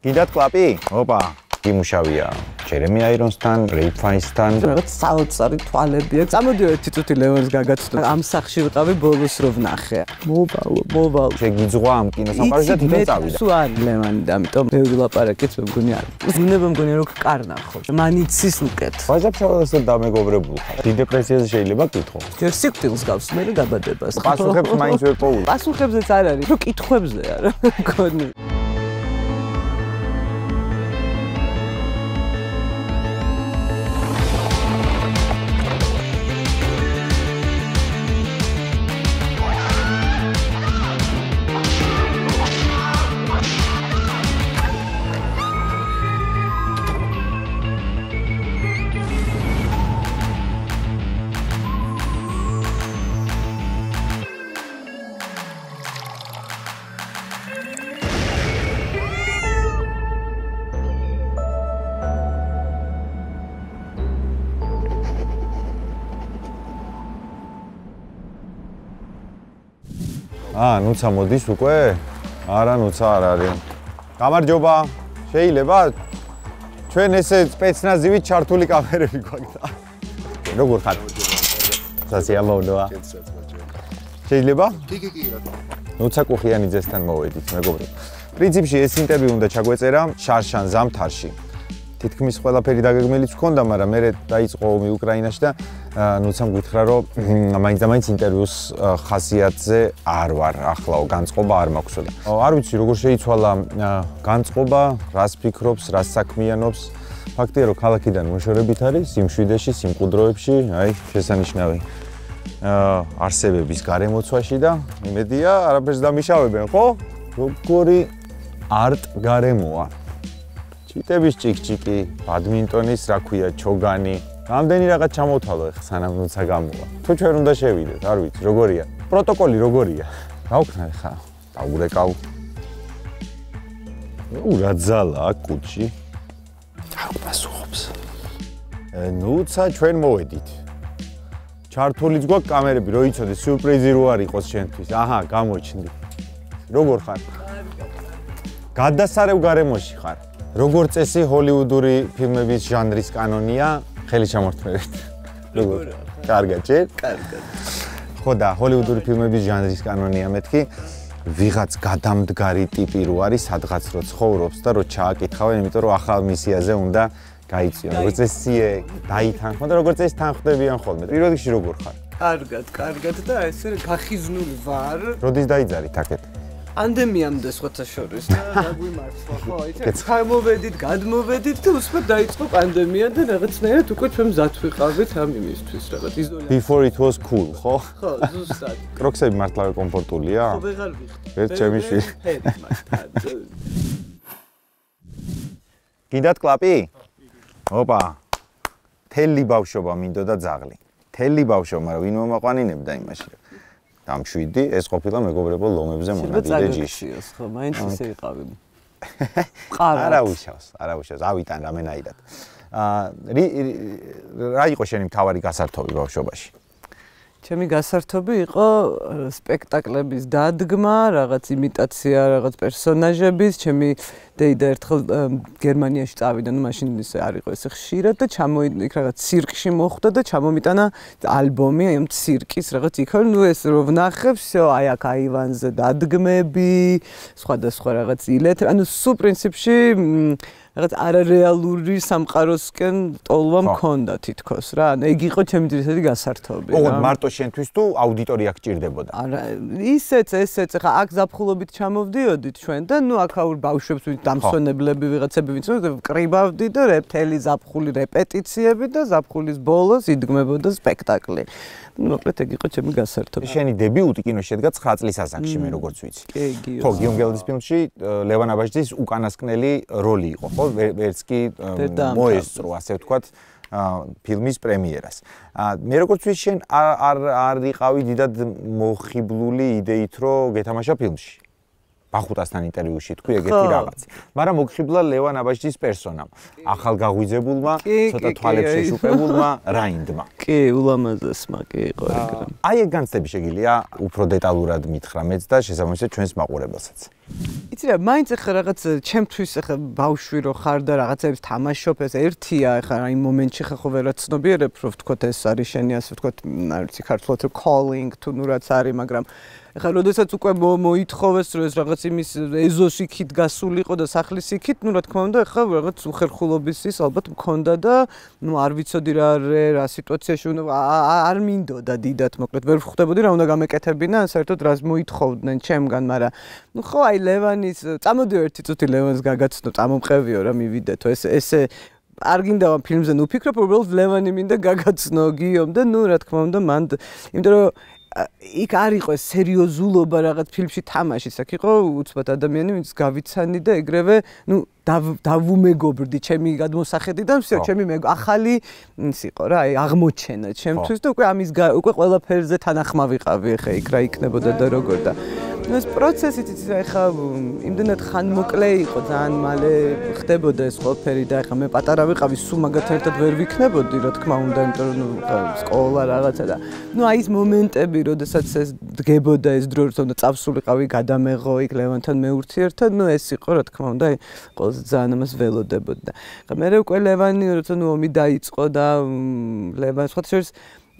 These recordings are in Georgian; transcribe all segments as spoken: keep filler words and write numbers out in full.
გინდათ კლაპი? ოპა, იმუშავია. ჯერემი აირონსთან, რეიფ ფაინსთან. რაღაც საოცარი თვალები აქვს. წამოდიო ერთი წუთი ლევანს გაგაცნო. ამ სახში ვიყავი ბოლოს რო ვნახე. მოვალო, მოვალო. შეგიძღვა ამ კინოსამყაროში და თვითონ წავიდა. სულ არის ლევანი და ამიტომ ბევრი ლაპარაკიც მეგონი არის. უნება მგონი რომ კარნახო. მანიცის უკეთ. ვაჟაფშაველს დამეგობრებულ ხარ. დიდ დეპრესიაზე შეიძლება გითხო. ჯერ სიკვდილს გავს, მე გაბადებას. პასუხებს მაინც ვერ პოულ. პასუხებზეც არ არის, რომ კითხვებზე არა მგონი. აა, ნუცა მოდის უკვე? არა, ნუცა არ არის. გამარჯობა. შეიძლება ჩვენ ესე სპეცნაზივით ჩართული კამერები გვაქვს. როგორ ხარ? სასიამოვნოა. შეიძლება? კი, კი, კი, რა თქმა უნდა. ნუცა კუხიანიძესთან მოვედით, მეგობრებო. პრინციპში ეს ინტერვიუ უნდა ჩაგვეწერა შარშან ზამთარში. თითქმის ყველაფერი დაგეგმილიც ჰქონდა, მაგრამ მე დაიწყო ომი უკრაინაში და ნუცამ გითხრა, რომ მაინც და მაინც ინტერვიუს ხასიათზე არ ვარ, ახლაო განწყობა არ მაქვსო და არ ვიცი როგორ შეიცვალა განწყობა, რას ფიქრობს, რას საქმიანობს. ფაქტია, რომ ქალაქიდან მოშორებით არის, სიმშვიდეში, სიმყუდროებში, აი, შესანიშნავი არსებების გარემოცვაში და იმედია, არაფერს დამიშავებენ, ხო? როგორი არტ გარემოა. ჩიტების ჭიკჭიკი, ბადმინტონის, რა ქვია, ჩოგანი. რამდენი რაღაც ჩამოვთვალო ეხლა სანამ ნუცა გამოვა. თუ ჩვენ უნდა შევიდეთ, არ ვიცი, როგორია. პროტოკოლი როგორია? გავქნა ეხლა, დაურეკავ. ნუ რა ძალა კუჩი. არ გასუხობს. ნუცა ჩვენ მოვედით. ჩართულიც გვაქვს კამერები, რო იცოდე, სიურპრიზი რო არ იყოს შენთვის. აჰა, გამოჩნდი. როგორ ხარ? გადასარევ გარემოში ხარ. როგორ წესი ჰოლივუდური ფილმების ჟანრის კანონია, ხელი ჩამორთმევით. როგორ? კარგად, ჯერ? კარგად. ხო და ჰოლივუდური ფილმების ჟანრის კანონია მეთქი, ვიღაც გადამდგარი ტიპი რო არის, სადღაც რო ცხოვრობს და რო ჩააკითხავენ, იმიტომ რომ ახალ მისიაზე უნდა გაიწიონ. როგორც წესი, დაითანხმო და როგორც წესი თანხმდებიან ხოლმე. პირველ რიგში როგორ ხარ? კარგად, კარგად და ესე გახიზნული ვარ. როდის დაიძარით აქეთ? პანდემიამდე სხვათა შორის და გაგვიმართლა, ხო, იცი? გამოვედით, გადმოვედით და უსმოდ დაიწყო პანდემია და რაღაცნაირად უკვე ჩვენ მზად ვიყავით ამ იმისთვის, რაღაც იზოლაცია. Before it was cool, ხო? ხო, ზუსტად. კროქსები მართლა კომფორტულია? ხო, ვეღარ ვიხდი. ერთ ჩემი შვილი. გინდათ კლაპი? ოპა. თელი ბავშვობა მინდოდა ძაღლი. თელი ბავშვობა, მაგრამ ვინ მომაყვანინებდა იმაში? დამშვიდი, ეს ყოფილა მეგობრებო ლომებზე მონადირე ჯიში. ხო, მაინც ისე იყავი. არა უშავს, არა უშავს, ავიტან რამენაირად. აა რა იყო შენი მთავარი გასართობი ბავშვობაში? ჩემი გასართობი იყო სპექტაკლების დადგმა, რაღაც იმიტაცია, რაღაც პერსონაჟების, ჩემი დეიდა ერთხელ გერმანიაში წავიდა, ну მაშინ ისე არ იყო ესე ხშირად და ჩამოიდგა იქ რაღაც ცირკში მოხვდა და ჩამომიტანა ალბომი ამ ცირკის რაღაც იქ, ну ეს რო ვნახებ, всё, აი აქ აივანზე დადგმები, სხვადასხვა რაღაც ილეთ, ანუ სულ პრინციპში რაღაც არარეალური სამყაროსკენ ტოლვა მქონდა თითქოს რა. ანუ ეგ იყო ჩემი ძირითადი გასართობი. ოღონდ მარტო შენთვის თუ აუდიტორია გჭირდებოდა? არა, ისეც, ესეც, ხა აქ ზაფხულობით ჩამოვდიოდით ჩვენ და ნუ აქაურ ბავშვებს დამსვენებლები ვიღაცები ვინც ვკრიბავდი და რეპტელი ზაფხული რეპეტიციები და ზაფხულის ბოლოს იდგმებოდა სპექტაკლი. ну მოკლედ ეგ იყო ჩემი გასართობი. შენი დებიუტი კინოში შედგა ცხრა წლის ასაკში, მე როგორც ვიცი. კი, გიო. ხო, გიომგელდის ფილმში ლევან აბაშიძის უკანასკნელი როლი იყო, ხო? ვერც კი მოესწრო, ასე ვთქვათ, ფილმის პრემიერას. მე როგორც ვიცი, შენ არ არ იყავი დიდად მოხიბლული იდეით, რომ გეთამაშა ფილმში. ბახუტასთან ინტერვიუში თქვი ეგეთი რაღაც. მაგრამ მოგხიბლა ლევან აბაშიძის პერსონამ, ახალგაღვიძებულმა, ცოტა თვალებს შეშუპებულმა რაინდმა. კი, ულამაზესმა კი იყო ეგრე. აი ეგ განცდები შეგიძლია უფრო დეტალურად მითხრა მეც და შესაბამისად ჩვენს მაყურებელსაც. იცი რა, მაინც ახლა რაღაც ჩემთვის ახლა ბავშვი რო ხარ და რაღაცებს თამაშობ, ეს ერთია, ახლა იმ მომენტში ხა ხო ვერა ცნობიერებ, რომ ვთქვათ ეს არის შენი ასე ვთქვათ, არ ვიცი ქართულად calling თუ ნუ რაც არის, მაგრამ ახლა როდესაც უკვე მოითხოვეს რომ ეს რაღაც იმის ეზოს იქით გასულიყო და სახლის იქით, ნუ რა თქმა უნდა, ახლა რაღაც უხერხულობის ის ალბათ მქონდა და ნუ არ ვიცოდი რა რა სიტუაციაში უნდა არ მინდოდა დიდად, მოკლედ ვერ ვხვდებოდი რა უნდა გამეკეთებინა, საერთოდ რას მოითხოვდნენ ჩემგან, მაგრამ ნუ ხო აი ლევანის, წამოდიო ერთი წუთი ლევანს გაგაცნო, წამომყევიო რა მივიდეთო, ეს ესე არ გინდა ფილმზე ნუ ფიქრობ, უბრალოდ ლევანი მინდა გაგაცნო გიომ და ნუ რა თქმა უნდა მან, იმიტომ რომ იქ არ იყო ეს სერიოზულობა რაღაც ფილმში თამაშის, აქ იყო უცბად ადამიანი, ვინც გავიცანი და ეგრევე, ნუ დავუმეგობრდი ჩემი გადმოსახედიდან, всё, ჩემი ახალი ის იყო რა, აი აღმოჩენა ჩემთვის და უკვე ამის უკვე ყველაფერზე თანახმა ვიყავი ახლა იქ რა იქნებოდა და როგორ და ეს პროცესიც იცი ახლა იმდენად ხანმოკლე იყო, ძალიან მალე ხდებოდა ეს ყველაფერი და ახლა მე პატარა ვიყავი, სულ მაგათთან ერთად ვერ ვიქნებოდი, რა თქმა უნდა, იმიტომ რომ სკოლა რაღაცა და ნუ აი ეს მომენტები, როდესაც ეს დგებოდა ეს დრო, რომ წავსულიყავი, გადამეღო იქ ლევანთან მეურთიერთა, ნუ ეს იყო, რა თქმა უნდა, აი ყველაზე ძალიან ამას ველოდებოდი და ახლა მე უკვე ლევანი, როცა ნუ ომი დაიწყო და ლევანი სხვა შორის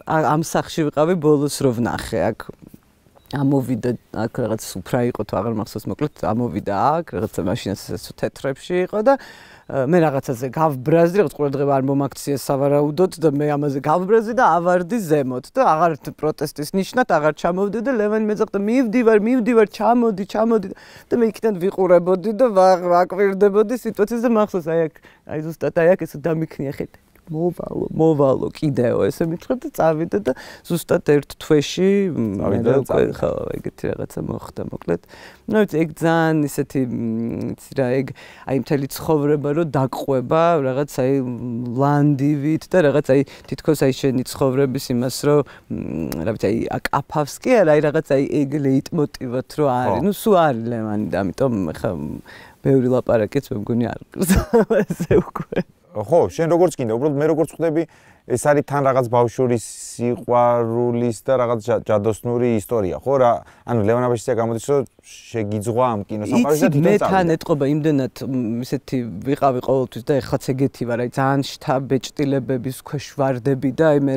ამ სახში ვიყავი ბოლოს რო ვნახე აქ ამოვიდა აქ რაღაც უფრა იყო თუ აღარ მახსოვს, მოკლედ ამოვიდა აქ რაღაცა მაშინაც ეს თეთრებში იყო და მე რაღაცაზე გავბრაზდი, რაღაც ყურადღება არ მომაქცია სავარაუდოდ და მე ამაზე გავბრაზდი და ავარდი ზემოთ და აღარ პროტესტის ნიშნად აღარ ჩამოვდი და ლევანი მეძახდა მივდივარ, მივდივარ, ჩამოდი, ჩამოდი და მე იქიდან ვიყურებოდი და ვაკვირდებოდი სიტუაციას და მახსოვს აი აქ აი ზუსტად აი აქ ეს დამიქნია ხეთ მოვალო, მოვალო კიდეო ესე მithred და წავიდა და ზუსტად ერთ თვეში მე უკვე ხო ეგეთი რაღაცა მოხდა მოკლედ. ნუ ეგ ძალიან ისეთი იცი რა ეგ აი მთელი ცხოვრება რო დაყვება რაღაც აი ლანდივით და რაღაც აი თითქოს აი შენი ცხოვრების იმას რო რა ვიცი აი აკაფავს კი არა აი რაღაც აი ეგ ლეიტმოტივად რო არის. ნუ სულ არის ლევანი და ამიტომ ხა ბევრი ლაპარაკიც მე მგონი არ ყრს ესე უკვე ხო, შენ როგორც კიდე, უბრალოდ მე როგორც ხვდები, ეს არის თან რაღაც ბავშვურის სიყვარულის და რაღაც ჯადოსნური ისტორია, ხო რა? ანუ ლევან აბაშიძე გამოდის, რომ შეგიძღვა ამ კინოსამყაროში და თვითონ წავიდა. მე თან ეტყობა იმდენად ისეთი ვიყავი ყოველთვის და ეხლაც ეგეთი ვარ, აი ძალიან შთაბეჭდილებების ქვეშ ვარდები და აი მე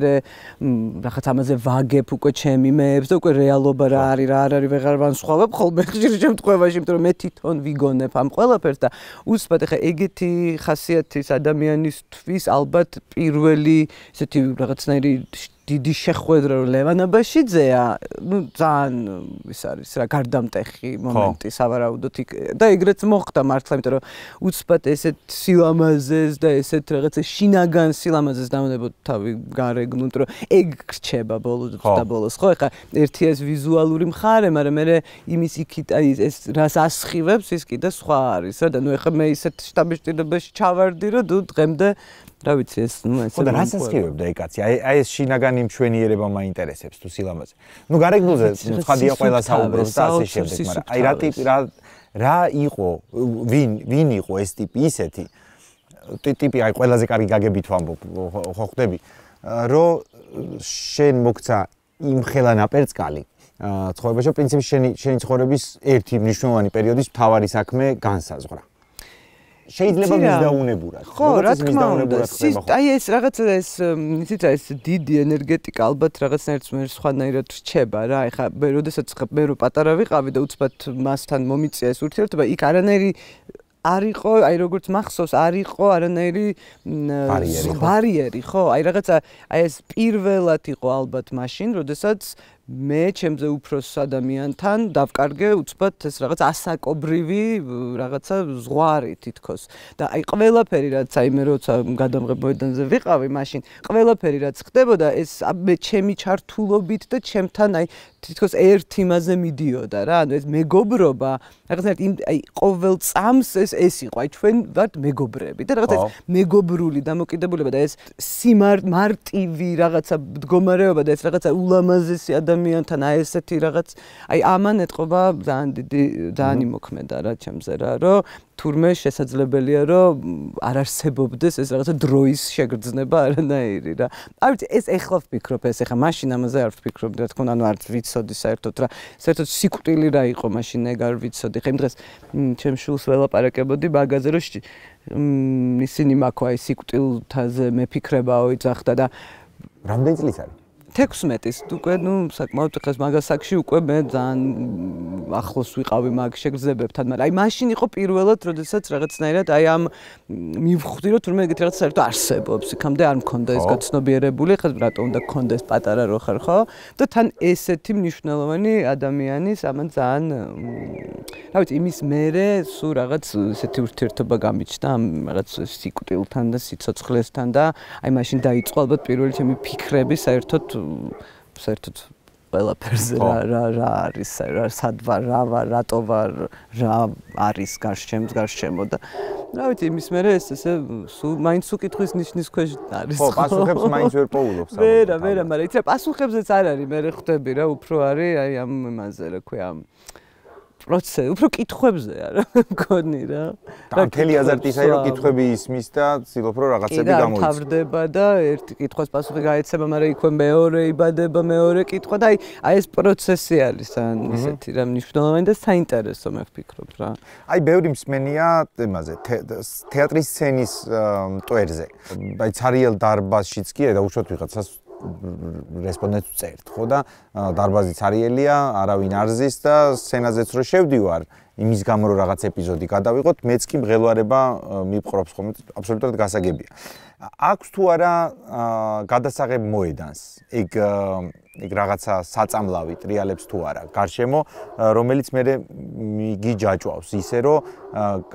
რაღაც ამაზე ვაგებ უკვე ჩემი მეებს და უკვე რეალობა რა არის, რა არ არის, ვეღარ ვანსხვავებ ხოლმე ხშირ შემთხვევაში, იმიტომ რომ მე თვითონ ვიგონებ ამ ყველაფერს და უცბად ეხა ეგეთი ხასიათის ადამიანისთვის ალბათ პირველი ისეთი რაღაცნაირი დიდი შეხვედრა რომ ლევან აბაშიძეა, ნუ ძალიან ის არის რა გარდამტეხი მომენტი სავარაუდოდ და ეგრეც მოხდა მართლა, იმიტომ რომ უცბად ესეთ სილამაზეს და ესეთ რაღაცა შინაგან სილამაზეს დამონებოდ თავი გარეგნულ, იმიტომ რომ ეგ გრჩება ბოლოს და ბოლოს, ხო, ეხა ერთი ეს ვიზუალური მხარე, მაგრამ მე იმის იქით აი ეს რას ასხივებს ის კიდე სხვა არის რა და ნუ ეხა მე ისეთ შტაბეჭდილებაში ჩავარდი რომ თუ დღემდე რა ვიცი ეს ნუ ესე და რას ასხივებდა ეგ კაცი? აი აი ეს შინაგანი მშვენიერება მაინტერესებს თუ სილამაზე. ნუ გარეგნულზე ცხადია ყველა საუბრობს და ასე შემდეგ, მაგრამ აი რა ტიპი რა რა იყო, ვინ ვინ იყო ეს ტიპი ისეთი ტიპი აი ყველაზე კარგი გაგებით ვამბობ, ხო ხვდები, რომ შენ მოგცა იმ ხელა ნაპერწკალი ცხოვრებაში, პრინციპში შენი შენი ცხოვრების ერთი მნიშვნელოვანი პერიოდის მთავარი საქმე განსაზღვრა. შეიძლება მისდაუნებურად. ხო, რა თქმა უნდა, აი ეს რაღაცა ეს იცით რა ეს დიდი ენერგეტიკა ალბათ რაღაცნაირად მე სხვანაირად რჩება რა. ეხლა მე როდესაც მე რო პატარა ვიყავი და უცბად მასთან მომიწია ეს ურთიერთობა, იქ არანაირი არ იყო, აი როგორც მახსოვს, არ იყო არანაირი ბარიერი, ხო? აი რაღაცა აი ეს პირველად იყო ალბათ მაშინ, როდესაც მე ჩემზე უფროს ადამიანთან დავკარგე უცბად ეს რაღაც ასაკობრივი რაღაცა ზღვარი თითქოს და აი ყველაფერი რაც აი მე როცა გადამღებოედანზე ვიყავი მაშინ ყველაფერი რაც ხდებოდა ეს მე ჩემი ჩართულობით და ჩემთან აი თითქოს ერთ იმაზე მიდიოდა რა ანუ ეს მეგობრობა რაღაცნაირად აი ყოველ წამს ეს ეს იყო აი ჩვენ ვართ მეგობრები და რაღაცა ეს მეგობრული დამოკიდებულება და ეს სიმარტივი რაღაცა მდგომარეობა და ეს რაღაცა ულამაზესი ადამიანთან აი ესეთი რაღაც აი ამან ეთყობა ძალიან დიდი ძალიან იმოქმედა რა ჩემზე რა რომ თურმე შესაძლებელია რომ არ არსებობდეს ეს რაღაცა დროის შეგრძნება არანაირი რა. არ ვიცი ეს ეხლა ვფიქრობ ეს ეხლა მაშინ ამაზე არ ვფიქრობდი რა თქმა უნდა ანუ არ ვიცოდი საერთოდ რა საერთოდ სიკვდილი რა იყო მაშინ ეგ არ ვიცოდი ხა იმ დღეს ჩემ შულს ველაპარაკებოდი მაგაზე რომ ისინი მაქო აი სიკვდილთაზე მეფიქრებაო იძახდა და რამდენი წლის არის თექვსმეტის უკვე ნუ საკმაოდ ხეს მაგას საკში უკვე მე ძალიან ახლოს ვიყავი მაგ შეგრძნებებთან მაგრამ აი მაშინ იყო პირველად როდესაც რაღაცნაირად აი ამ მივხვდი რომ თურმე ეგეთი რაღაც საერთოდ არსებობს იქამდე არ მქონდა ეს გაცნობიერებული ხა რატო უნდა გქონდეს პატარა რო ხარ ხო და თან ესეთი მნიშვნელოვანი ადამიანის ამან ძალიან რა ვიცი იმის მერე სულ რაღაც ესეთი ურთიერთობა გამიჩნდა ამ რაღაც სიკვდილთან და სიცოცხლესთან და აი მაშინ დაიწყო ალბათ პირველი ჩემი ფიქრები საერთოდ საერთოდ ყველაფერზე რა რა რა არის რა სად ვარ რა ვარ რატო ვარ რა არის გარშემო გარშემო და რა ვიცი იმის მერე ეს ესე სულ მაინც უკითხვის ნიშნის ქვეშ არის ხო პასუხებს მაინც ვერ პოულობს ვერა ვერა მაგრამ იცი პასუხებზეც არ არის მე ხვდები რა უფრო არის აი ამ იმაზე რა ქვია პროცესი უფრო კითხვებზე არა მგონი რა და მთელი აზარტისა რომ კითხვები ისმის და ცდილობ რომ რაღაცები გამოიწვიოს და თავდება და ერთი კითხვას პასუხი გაეცემა მაგრამ იქვე მეორე იბადება მეორე კითხვა და აი აი ეს პროცესი არის ან ისეთი რა მნიშვნელოვანი და საინტერესო მე ვფიქრობ რა აი ბევრი მსმენია იმაზე თეატრის სცენის მტვერზე აი ცარიელ დარბაზშიც კი და უშუალოდ ვიღაცას რესპონდენტს წერთ ხო და დარბაზი ცარიელია არავინ არ ზის და სცენაზეც რო შევდივარ იმის გამო რომ რაღაც ეპიზოდი გადავიღოთ მეც კი მღელვარება მიპყრობს ხოლმე აბსოლუტურად გასაგებია აქვს თუ არა გადასაღებ მოედანს ეგ ეგ რაღაცა საწამლავი ტრიალებს თუ არა გარშემო რომელიც მე გიჯაჭვავს ისე რომ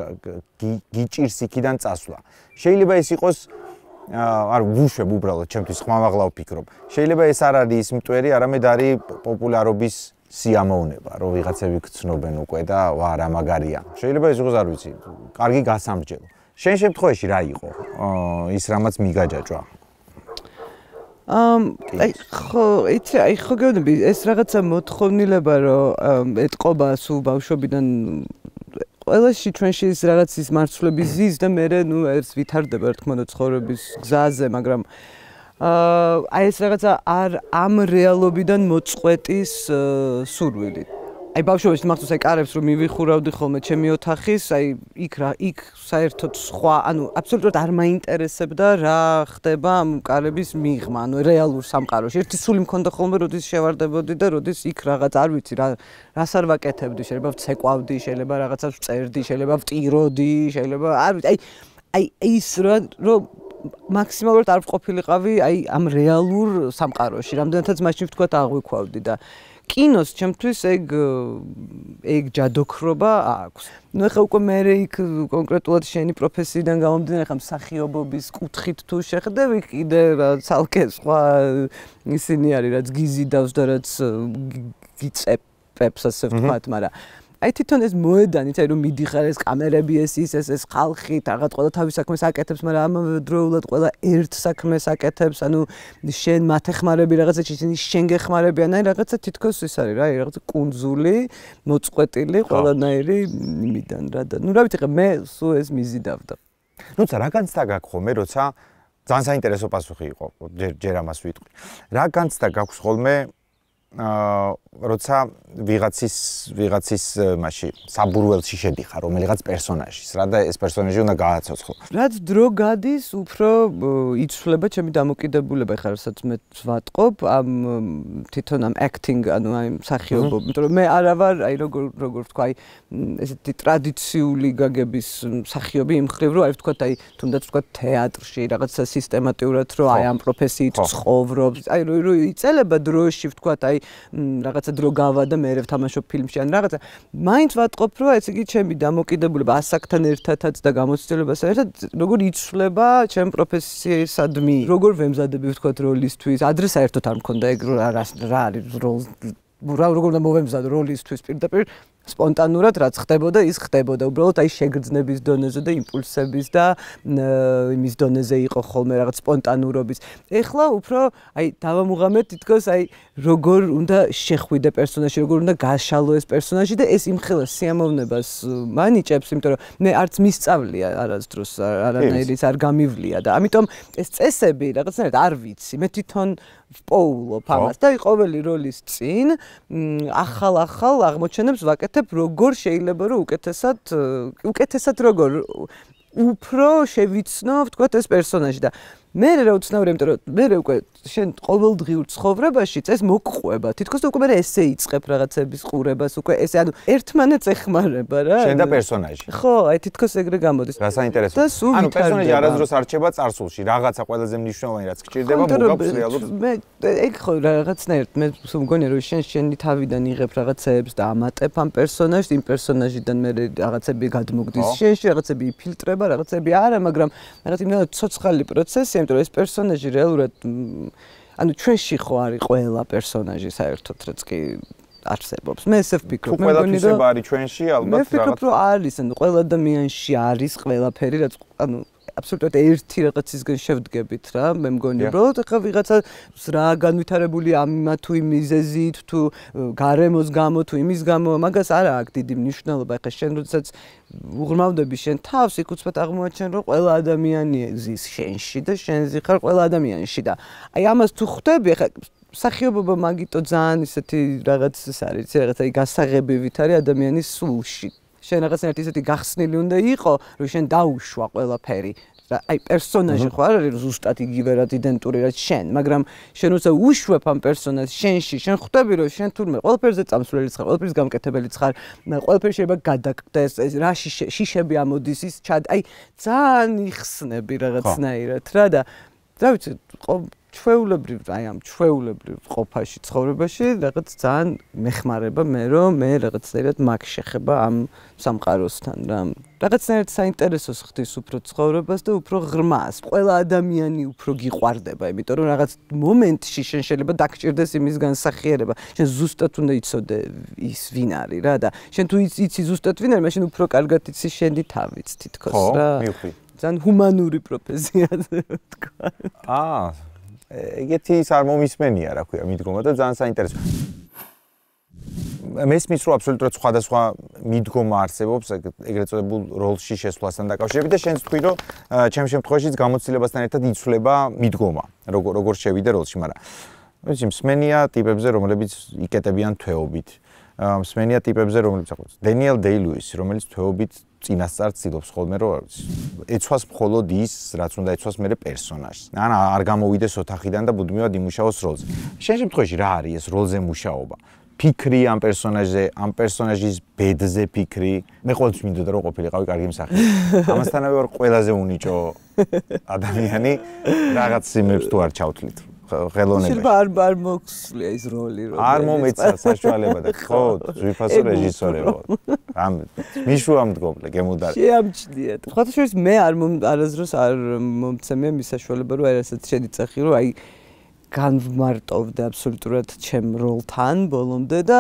გიჭირს იქიდან წასვლა შეიძლება ეს იყოს არ ვუშვებ უბრალოდ ჩემთვის ხმამაღლა ვფიქრობ. შეიძლება ეს არ არის ის მტვერი, არამედ არის პოპულარობის სიამოვნება, რომ ვიღაცები გცნობენ უკვე და ვა რა მაგარია. შეიძლება ეს იყოს არ ვიცი, კარგი გასამრჯელო. შენ შემთხვევაში რა იყო? ის რამაც მიგაჯაჭვა. ამ აი ხო, იცი, აი ხო გეუბნები, ეს რაღაცა მოთხოვნილება, რომ ეთყობა სულ ბავშვობიდან ყველაში ჩვენში ის რაღაც ის მარცვლების ზის და მე ნუ ეს ვითარდება რა თქმა უნდა ცხოვრების გზაზე, მაგრამ აი ეს რაღაცა არ ამ რეალობიდან მოწყვეტის სურვილი. აი ბავშვობაში მახსოვს აი კარებს რომ მივიხურავდი ხოლმე ჩემი ოთახის, აი იქ რა იქ საერთოდ სხვა, ანუ აბსოლუტურად არ მაინტერესებდა რა ხდება ამ კარების მიღმა, ანუ რეალურ სამყაროში. ერთი სული მქონდა ხოლმე, როდის შევარდებოდი და როდის იქ რაღაც არ ვიცი რა რას არ ვაკეთებდი, შეიძლება ვცეკვავდი, შეიძლება რაღაცას ვწერდი, შეიძლება ვტიროდი, შეიძლება არ ვიცი, აი აი ის რომ მაქსიმალურად არ ვყოფილიყავი აი ამ რეალურ სამყაროში, რამდენადაც მაშინ ვთქვათ აღვიქვავდი და კინოს ჩემთვის ეგ ეგ ჯადოქრობა აქვს. ნუ ეხლა უკვე მე იქ კონკრეტულად შენი პროფესიიდან გამომდინარე, ხა მსახიობობის კუთხით თუ შეხვდები, კიდე ცალკე სხვა ისინი არის, რაც გიზიდავს და რაც გიწეპებს ასე ვთქვათ, მაგრამ აი თვითონ ეს მოედანიც, აი რომ მიდიხარ ეს კამერები, ეს ის ეს ეს ხალხი, რაღაც ყველა თავის საქმეს აკეთებს, მაგრამ ამავე დროულად ყველა ერთ საქმეს აკეთებს, ანუ შენ მათ ეხმარები რაღაცა, ისინი შენ გეხმარებიან, აი რაღაცა თითქოს ის არის რა, აი რაღაცა კუნძული, მოწყვეტილი ყველანაირი იმიდან რა და ნუ რა ვიცი, მე სულ ეს მიზიდავდა. ნუცა რა განცდა გაქვს ხოლმე, როცა ძალიან საინტერესო პასუხი იყო, ჯერ ამას ვიტყვი. რა განცდა გაქვს ხოლმე აა როცა ვიღაცის ვიღაცის მასში საბურველში შედიხარ რომელიღაც პერსონაჟის რა და ეს პერსონაჟი უნდა გააცოცხლო. რაც დრო გადის, უფრო იცვლება ჩემი დამოკიდებულება, ხა რასაც მე ვატყობ ამ თვითონ ამ acting, ანუ აი მსახიობობა, იმიტომ რომ მე არა ვარ, აი როგორ როგორ ვთქვა, აი ესეთი ტრადიციული გაგების მსახიობი იმ ხრივ, რომ აი ვთქვა, აი თუნდაც ვთქვა თეატრში რაღაცა სისტემატიურად, რომ აი ამ პროფესიით ცხოვრობს, აი რო იწელება დროში ვთქვა, აი რაღაცა დრო გავა და მე ვთამაშობ ფილმში ან რაღაცა მაინც ვატყობ რომ ეს იგი ჩემი დამოკიდებულება ასაკთან ერთადაც და გამოცდილებასთან ერთად როგორ იცვლება ჩემ პროფესიისადმი როგორ ვემზადები ვთქვათ როლისთვის ადრე საერთოდ არ მქონდა ეგ რა რა არის როლ რა როგორ უნდა მოვემზადო როლისთვის პირდაპირ სპონტანურად რაც ხდებოდა, ის ხდებოდა. უბრალოდ აი შეგრძნების დონეზე და იმპულსების და იმის დონეზე იყო ხოლმე რაღაც სპონტანურობის. ეხლა უფრო აი დავამუღამეთ თითქოს აი როგორ უნდა შეხვიდე პერსონაჟი, როგორ უნდა გაშალო ეს პერსონაჟი და ეს იმხელა სიამოვნებას მანიჭებს, იმიტომ რომ მე არც მისწავლია არასდროს არანაირი არ გამივლია და ამიტომ ეს წესები რაღაცნაირად არ ვიცი. მე თვითონ ვპოულობ ამას და ყოველი როლის წინ ახალ-ახალ აღმოჩენებს ვაკეთებ, როგორ შეიძლება რომ უკეთესად უკეთესად როგორ უფრო შევიცნო, ვთქვათ, ეს პერსონაჟი და მე რა უცნაური, იმიტომ რომ მე უკვე შენ ყოველდღიურ ცხოვრებაში ეს მოგყვება. თითქოს უკვე მე ესე იწყებ რაღაცების ყურებას, უკვე ესე ანუ ერთმანეთს ეხმარება რა. შენ და პერსონაჟი. ხო, აი თითქოს ეგრე გამოდის. რა საინტერესო. ანუ პერსონაჟი არასდროს არ რჩება წარსულში, რაღაცა ყველაზე მნიშვნელოვანი რაც გჭირდება მოგავს რეალურად. მე ეგ ხო რაღაცნაირად მე მგონია რომ შენ შენი თავიდან იღებ რაღაცეებს და ამატებ ამ პერსონაჟს, იმ პერსონაჟიდან მე რაღაცები გადმოგდის შენში, რაღაცები იფილტრება, რაღაცები არა, მაგრამ რაღაც იმდენად ცოცხალი პროცესი იმიტომ რომ ეს პერსონაჟი რეალურად ანუ ჩვენში ხო არის ყველა პერსონაჟი საერთოდ რაც კი არსებობს. მე ესე ვფიქრობ. მე მგონი რომ არის ჩვენში ალბათ რაღაც. მე ვფიქრობ რომ არის, ანუ ყველა ადამიანში არის ყველაფერი რაც ანუ აბსოლუტურად ერთი რაღაცისგან შევდგებით რა. მე მგონი უბრალოდ ახლა ვიღაცა რა განვითარებული ამა თუ იმ მიზეზით თუ გარემოს გამო თუ იმის გამო მაგას არა აქვს დიდი მნიშვნელობა. ახლა შენ როდესაც უღრმავდები შენ თავს, იქ უცბად აღმოაჩენ რომ ყველა ადამიანი ზის შენში და შენ ზიხარ ყველა ადამიანში და აი ამას თუ ხვდები ახლა სახიობობა მაგიტო ძალიან ისეთი რაღაც ის არის, რაღაცა გასაღებივით არის ადამიანის სულში. შენ რაღაცნაირად ისეთი გახსნილი უნდა იყო, რომ შენ დაუშვა ყველაფერი. აი პერსონაჟი ხო არ არის ზუსტად იგივე რაც იდენტური რაც შენ, მაგრამ შენ როცა უშვებ ამ პერსონაჟს შენში, შენ ხვდები რომ შენ თურმე ყველაფერზე წამსვლელი ხარ, ყველაფრის გამკეთებელი ხარ, ყველაფერი შეიძლება გადაგკდეს, რა შიშები ამოდის ის ჩად, აი ძალიან იხსნები რაღაცნაირად რა და რა ვიცი, ჩვეულებრივ, აი ამ ჩვეულებრივ ყოფაში, ცხოვრებაში რაღაც ძალიან მეხმარება მე რომ მე რაღაცნაირად მაგ შეხება ამ სამყაროსთან რა. რაღაცნაირად საინტერესოს ხდის უფრო ცხოვრებას და უფრო ღრმას. ყველა ადამიანი უფრო გიყვარდება, იმიტომ რომ რაღაც მომენტში შენ შეიძლება დაგჭირდეს იმის განსახიერება. შენ ზუსტად უნდა იცოდე ის ვინ არის რა და შენ თუ იცი ზუსტად ვინ არის, მაშინ უფრო კარგად იცი შენი თავიც თითქოს რა. ხო, მივხვდი. ძალიან ჰუმანური პროფესია თქვა. აა ეგეთი ის არ მომისმენია, რა ქვია, მიდგომა და ძალიან საინტერესო. მესმის რომ აბსოლუტურად სხვადასხვა მიდგომა არსებობს ეგრეთ წოდებულ როლში შესვლასთან დაკავშირებით და შენს თქვი რომ ჩემ შემთხვევაშიც გამოცდილებასთან ერთად იცვლება მიდგომა, როგორ როგორ შევიდე როლში, მაგრამ ვიცი, მსმენია ტიპებზე, რომლებიც იკეტებიან თვეობით. მსმენია ტიპებზე, რომლებიც ახლა დენიელ დეი-ლუისი, რომელიც თვეობით წინასწარ ცდილობს ხოლმე რომ ეცვას მხოლოდ ის, რაც უნდა ეცვას მერე პერსონაჟს. ან არ გამოვიდეს ოთახიდან და ბუდმივად იმუშაოს როლზე. შენ შემთხვევაში რა არის ეს როლზე მუშაობა? ფიქრი ამ პერსონაჟზე, ამ პერსონაჟის ბედზე ფიქრი. მე ყოველთვის მინდოდა რომ ყოფილიყავი კარგი მსახიობი. ამასთანავე ვარ ყველაზე უნიჭო ადამიანი, რაღაც სიმებს თუ არ ჩავთვლით. ხელოვნებაში. შეიძლება არ არ მოხსლია ის როლი რომ არ მომეცა საშუალება და ხო, ძვირფასო რეჟისორი ვარ. ამ მიშუა მდგომლე გემუდარი. შეამჩნიათ. ხათაშორის მე არ არასდროს არ მომცემია მის საშუალება რომ რასაც შედიცახი რომ აი განვმარტოვდე აბსოლუტურად ჩემ როლთან ბოლომდე და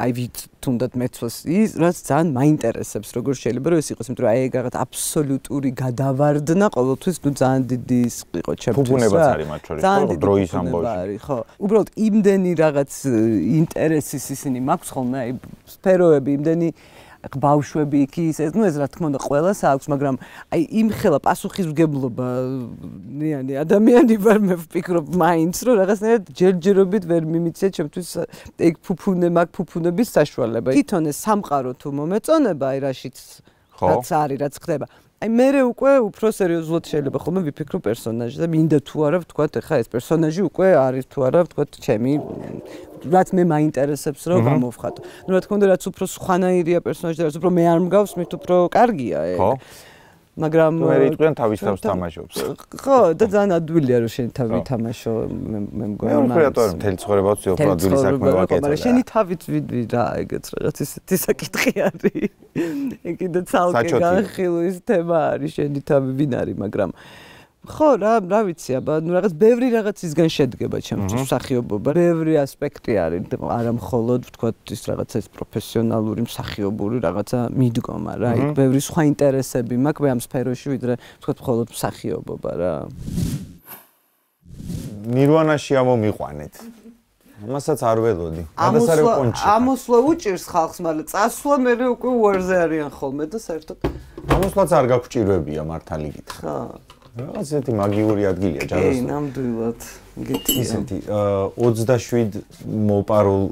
აი ვით თუნდაც მეცვას ის რაც ძალიან მაინტერესებს როგორ შეიძლება რომ ეს იყოს, იმიტომ რომ აი ეგ რაღაც აბსოლუტური გადავარდნა ყოველთვის ნუ ძალიან დიდი ის იყო ჩემთვის. ფუფუნებაც არის მათ შორის, ხო, დროის ამბავში. ხო, უბრალოდ იმდენი რაღაც ინტერესის ისინი მაქვს ხოლმე აი სფეროები, იმდენი ბავშვები იქ ის ეს ნუ ეს რა თქმა უნდა ყველას აქვს, მაგრამ აი იმხელა პასუხისმგებლობა ნიანი ადამიანი ვარ მე ვფიქრობ მაინც რომ რაღაცნაირად ჯერჯერობით ვერ მიმიცია ჩემთვის ეგ ფუფუნე მაგ ფუფუნების საშუალება. თვითონ ეს სამყარო თუ მომეწონება აი რაშიც რაც არის რაც ხდება. აი მე უკვე უფრო სერიოზულად შეიძლება ხოლმე ვიფიქრო პერსონაჟზე და მინდა თუ არა ვთქვათ ეხა ეს პერსონაჟი უკვე არის თუ არა ვთქვათ ჩემი რაც მე მაინტერესებს რომ გამოვხატო. ნუ რა თქმა უნდა რაც უფრო სხვანაირია პერსონაჟი და რაც უფრო მე არ მგავს, მით უფრო კარგია ეგ. ხო. მაგრამ მე რიტყვიან თავის თავს თამაშობს. ხო, და ძალიან ადვილია რომ შენ თავი თამაშო მე მე მგონი. მე უფრო რატომ მთელი ცხოვრება ვცდილობ ადვილი საქმე ვაკეთო. მაგრამ შენი თავით ვიდვი რა ეგეც რაღაც ისეთი საკითხი არის. ეგ კიდე ცალკე განხილვის თემა არის შენი თავი ვინ არის, მაგრამ ხო, რა, რა ვიცი, აბა, ნუ რაღაც ბევრი რაღაცისგან შედგება ჩემთვის მსახიობობა. ბევრი ასპექტი არის, არა მხოლოდ ვთქვათ ის რაღაცა ეს პროფესიონალური მსახიობური რაღაცა მიდგომა რა. იქ ბევრი სხვა ინტერესები მაქვს ამ სფეროში, ვიდრე ვთქვათ მხოლოდ მსახიობობა რა. ნირვანაში ამომიყვანეთ. მასაც არ ველოდი. გადასარევ კონჩი. ამოსვლა უჭირს ხალხს, მაგრამ წასვლა მე უკვე უარზე არიან ხოლმე და საერთოდ ამოსვლაც არ გაგვჭირვებია მართალი გითხრა. ხა. რაღაც ესეთი მაგიური ადგილია ჯადოს. კი, ნამდვილად. გითხრა. ისეთი ოცდაშვიდ მოპარულ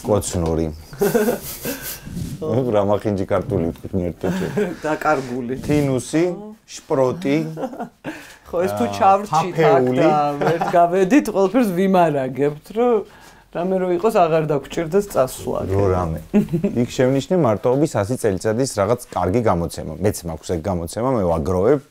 კოცნორი. რა მახინჯი ქართული ვთქვით ერთერთი. დაკარგული. თინუსი, შპროტი. ხო, ეს თუ ჩავრჩით აქ და ვერ გავედით, ყველაფერს ვიმარაგებთ, რომ რამე რო იყოს აღარ დაგჭირდეს წასვლა. რო რამე. იქ შევნიშნე მარტოობის ასი წელიწადის რაღაც კარგი გამოცემა. მეც მაქვს ეგ გამოცემა, მე ვაგროვებ.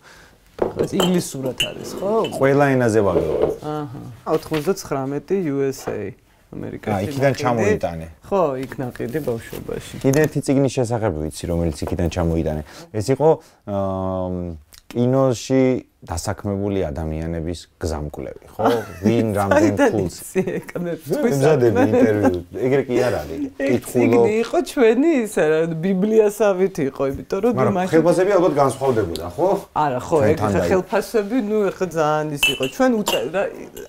ეს ინგლისურად არის, ხო? ყველა ენაზე ვაგროვებ. აჰა. ოცდათხმეტი იუ ეს ეი ამერიკაში. აა, იქიდან ჩამოიტანე. ხო, იქ ნაყიდი ბავშვობაში. კიდე ერთი წიგნის შესახებ ვიცი, რომელიც იქიდან ჩამოიტანე. ეს იყო აა კინოში დასაქმებული ადამიანების გზამკვლევი, ხო? ვინ რამდენ ფულს ემზადები ინტერვიუ. ეგრე კი არ არის. კითხულობ. წიგნი იყო ჩვენი ისა რა ბიბლიასავით იყო, იმიტომ რომ მაგრამ ხელფასები ალბათ განსხვავდებოდა, ხო? არა, ხო, ეგ ხელფასები, ნუ ეხლა ძალიან ის იყო. ჩვენ უწევდა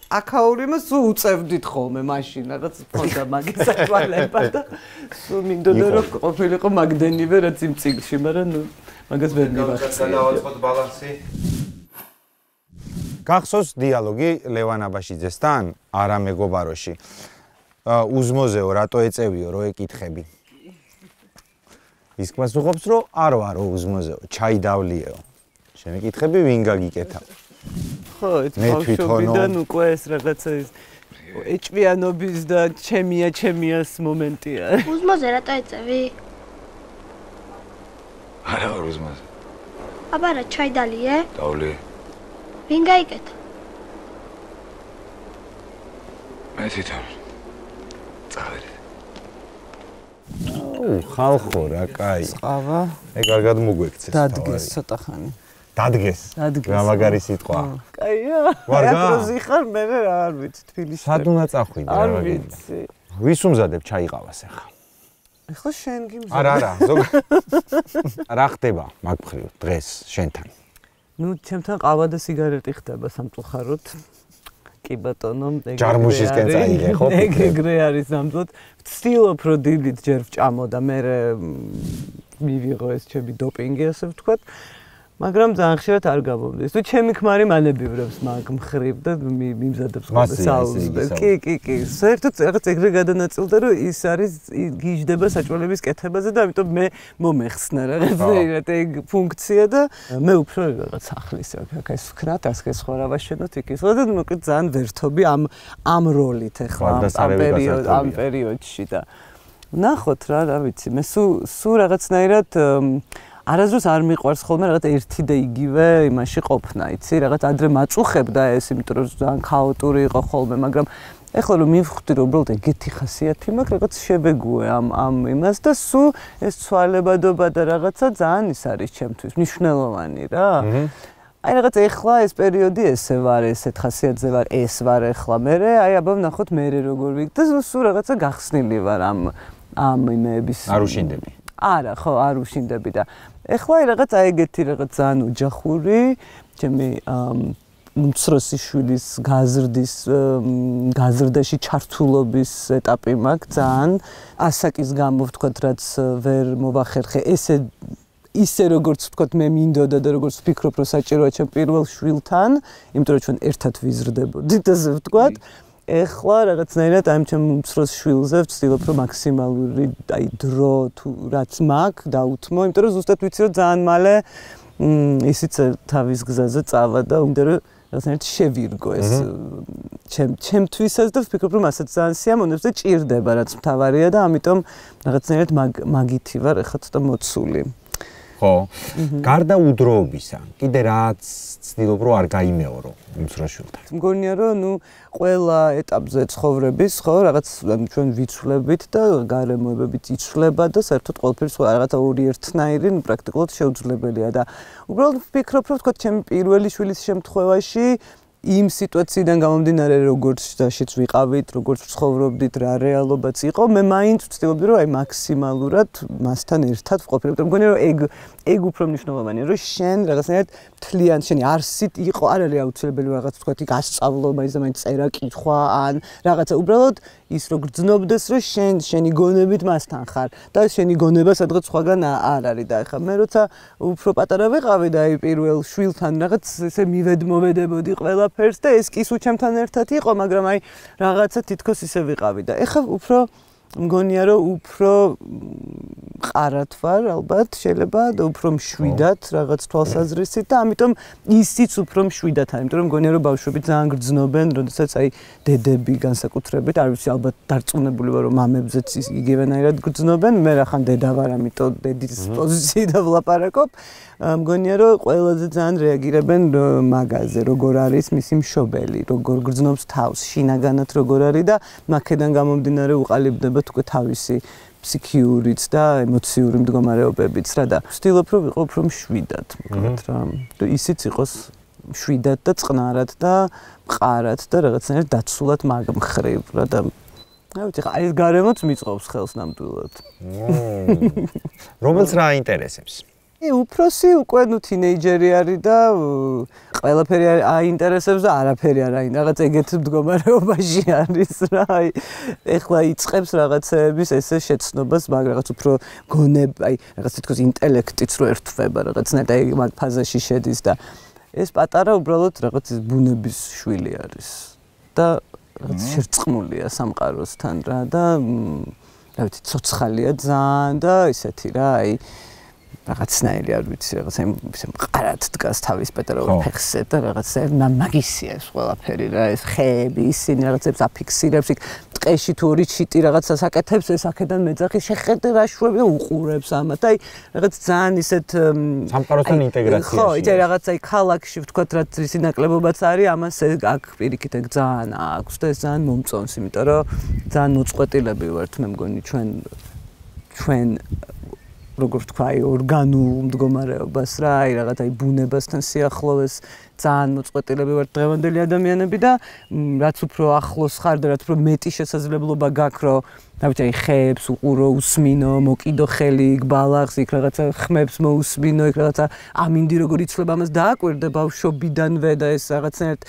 აკაურიმას სულ უწევდით ხოლმე მაშინ, რაღაც ფონდა მაგის საშუალება და სულ მინდოდა რომ ყოფილიყო მაგდენივე რაც იმ წიგნში, მაგრამ ნუ მაგას ვერ მივახცია. დავაწყოთ ბალანსი. გახსოვს დიალოგი ლევან აბაშიძესთან არა მეგობაროში. უზმოზეო რატო ეწევიო რო ეკითხები. ის პასუხობს რომ არ ვარო უზმოზეო, ჩაიდავლიეო. შემეკითხები ვინ გაგიკეთა. ხო, ეს ბავშვობიდან უკვე ეს რაღაცა ის ეჭვიანობის და ჩემია ჩემიას მომენტია. უზმოზე რატო ეწევი? არა ვარ უზმოზე. აბა რა ჩაიდალიე? დავლი. ვინ გაიკეთა? მე თვითონ. წავედი. ო, ხალხო რა, კაი. ყავა. ეგ კარგად მოგვექცეს. დადგეს ცოტა ხანი. დადგეს. რა მაგარი სიტყვა. კაია. ვარ გა? აკროზი ხარ მე რა არ ვიცი თბილისში. სად უნდა წახვიდე რა არ ვაგები. ვიცი. ვის უმზადებ ჩაიყავას ახლა? ეხლა შენ გიმზადებ. არა, არა, ზოგ რა ხდება მაგ მხრივ დღეს შენთან? ნუ ჩემთან ყავა და სიგარეტი ხდება სამწუხაროდ. კი ბატონო, ეგ ჯარმუშისკენ წაიგე, ხო? ეგ ეგრე არის ნამდვილად. ვცდილობ რომ დილით ჯერ ვჭამო და მე მივიღო ეს ჩემი დოპინგი, ასე ვთქვათ. მაგრამ ძალიან ხშირად არ გამომდის. თუ ჩემი ქმარი მანებივრებს მაგ მხრივ და მიმზადებს ხოლმე საუზმეს. კი, კი, კი. საერთოდ რაღაც ეგრე გადანაწილდა რომ ის არის გიждდება საჭმელების კეთებაზე და ამიტომ მე მომეხსნა რაღაცნაირად ეგ ფუნქცია და მე უფრო რაღაც ახლის აქ ეს ვქნათ, ასე სხვა რა ვაშენოთ იქ ის. და მოკლედ ძალიან ვერთობი ამ ამ როლით ახლა ამ პერიოდ ამ პერიოდში და ნახოთ რა, რა ვიცი. მე სულ სულ რაღაცნაირად არასდროს არ მიყვარს ხოლმე რაღაც ერთი და იგივე იმაში ყოფნა, იცი, რაღაც ადრე მაწუხებდა ეს, იმიტომ რომ ძალიან ქაოტური იყო ხოლმე, მაგრამ ეხლა რომ მივხვდი რომ უბრალოდ ეგეთი ხასიათი მაქვს, რაღაც შევეგუე ამ ამ იმას და სულ ეს ცვალებადობა და რაღაცა ძალიან ის არის ჩემთვის მნიშვნელოვანი რა. აი რაღაც ეხლა ეს პერიოდი ესე ვარ, ესეთ ხასიათზე ვარ, ეს ვარ ეხლა მე, აი აბა ვნახოთ მე როგორ ვიქ და სულ რაღაცა გახსნილი ვარ ამ ამ იმების. არ უშინდები. არა, ხო, არ უშინდები და ეხლა რაღაც აი ეგეთი რაღაც ძალიან ოჯახური, ჩემი უმცროსი შვილის გაზრდის გაზრდაში ჩართულობის ეტაპი მაქვს ძალიან ასაკის გამო ვთქვათ, რაც ვერ მოვახერხე ესე ისე როგორც ვთქვათ მე მინდოდა და როგორც ვფიქრობ რომ საჭიროა ჩემ პირველ შვილთან, იმიტომ რომ ჩვენ ერთად ვიზრდებოდით ასე ვთქვათ. ეხლა რაღაცნაირად აი ჩემ უმცროს შვილზე ვცდილობ რომ მაქსიმალური აი დრო თუ რაც მაქვს დაუთმო, იმიტომ რომ ზუსტად ვიცი რომ ძალიან მალე ისიც თავის გზაზე წავა და უნდა რომ რაღაცნაირად შევირგო ეს ჩემ ჩემთვისაც და ვფიქრობ რომ ასაც ძალიან სიამოვნებს და ჭირდება რაც მთავარია და ამიტომ რაღაცნაირად მაგითი ვარ ეხლა ცოტა მოცული. ხო? გარდა უდროობისა, კიდე რაც ცდილობ რომ არ გაიმეორო უმცროსშვილთან. მგონია რომ ნუ ყველა ეტაპზე ცხოვრების, ხო, რაღაც ჩვენ ვიცვლებით და გარემოებებით იცვლება და საერთოდ ყველაფერს რაღაცა ორი ერთნაირი პრაქტიკულად შეუძლებელია და უბრალოდ ვფიქრობ, რომ თქვა ჩემი პირველი შვილის შემთხვევაში იმ სიტუაციიდან გამომდინარე როგორც დაშიც ვიყავით, როგორც ცხოვრობდით, რა რეალობაც იყო, მე მაინც ვცდილობდი რომ აი მაქსიმალურად მასთან ერთად ვყოფილიყო. მგონია რომ ეგ ეგ უფრო მნიშვნელოვანია, რომ შენ რაღაცნაირად მთლიან შენი არსით იყო, არ არის აუცილებელი რაღაც თქვა იქ ასწავლო, მაინც და მაინც წერა, კითხვა ან რაღაცა უბრალოდ ის რო გრძნობდეს, რომ შენ შენი გონებით მასთან ხარ და შენი გონება სადღაც სხვაგან არ არის და ეხლა მე როცა უფრო პატარა ვიყავი და აი პირველ შვილთან რაღაც ესე მივედმოვედებოდი ყველაფერს და ეს კი სულ ჩემთან ერთად იყო, მაგრამ აი რაღაცა თითქოს ისე ვიყავი და ეხლა უფრო მგონია რომ უფრო ყარად ვარ ალბათ შეიძლება და უფრო მშვიდად რაღაც თვალსაზრისით და ამიტომ ისიც უფრო მშვიდად არის, იმიტომ რომ მგონია რომ ბავშვები ძალიან გრძნობენ, როდესაც აი დედები განსაკუთრებით, არ ვიცი ალბათ დარწმუნებული ვარ რომ მამებზეც იგივენაირად გრძნობენ, მე რახან დედა ვარ, ამიტომ დედის პოზიციიდან ვლაპარაკობ. მგონია რომ ყველაზე ძალიან რეაგირებენ მაგაზე, როგორ არის მისი მშობელი, როგორ გრძნობს თავს, შინაგანად როგორ არის და მაქედან გამომდინარე უყალიბდება თქვა თავისი ფსიქიურიც და ემოციური მდგომარეობებიც რა და ვცდილობ რომ ვიყო უფრო მშვიდად, მოკლედ რა. ისიც იყოს მშვიდად და წყნარად და მყარად და რაღაცნაირად დაცულად მაგ მხრივ რა და რა ვიცი, ხა ეს გარემოც მიწყობს ხელს ნამდვილად. რომელს რა აინტერესებს? უფროსი უკვე ნუ თინეიჯერი არის და ყველაფერი აინტერესებს და არაფერი არ აინტერესებს. რაღაც ეგეთ მდგომარეობაში არის რა. აი ეხლა იწყებს რაღაცეების ესე შეცნობას, მაგრამ რაღაც უფრო გონება, აი რაღაც თითქოს ინტელექტიც რო ერთვება, რაღაცნაირად აი მაგ ფაზაში შედის და ეს პატარა უბრალოდ რაღაც ბუნების შვილი არის და რაღაც შერწყმულია სამყაროსთან რა და რა ვიცი, ცოცხალია ძალიან და ისეთი რა, აი რაღაცნაირი არ ვიცი, რაღაც ისე მყარად დგას თავის პეტროვის ფეხზე და რაღაცა მაგისია ეს ყველაფერი რა, ეს ხეები, ისინი რაღაცებს აფიქსირებს, იქ ტყეში თუ ორი ჩიტი რაღაცას აკეთებს, ეს აქედან მეძახი შეხედე რა შვები და უყურებს ამათ. აი რაღაც ძალიან ისეთ სამყაროსთან ინტეგრაციაში. ხო, იცი რაღაცა აი ქალაქში ვთქვათ, რაც ისი ნაკლებობაც არის, ამას აქ პირიქით ეგ ძალიან აქვს და ეს ძალიან მომწონს, იმიტომ რომ ძალიან მოწყვეტილები ვართ, მე მგონი ჩვენ ჩვენ როგორ თქვა, აი ორგანულ მდგომარეობას რა, აი რაღაც აი ბუნებასთან სიახლოვეს ძალიან მოწყვეტილები ვართ დღევანდელი ადამიანები და რაც უფრო ახლოს ხარ და რაც უფრო მეტი შესაძლებლობა გაქვს, რომ რა ვიცი, აი ხეებს უყურო, უსმინო, მოკიდო ხელი იქ ბალახს, იქ რაღაცა ხმებს მოусმინო, იქ რაღაცა ამინდი როგორ იცლება ამას დააკვირდე ბავშვობიდანვე და ეს რაღაცნაირად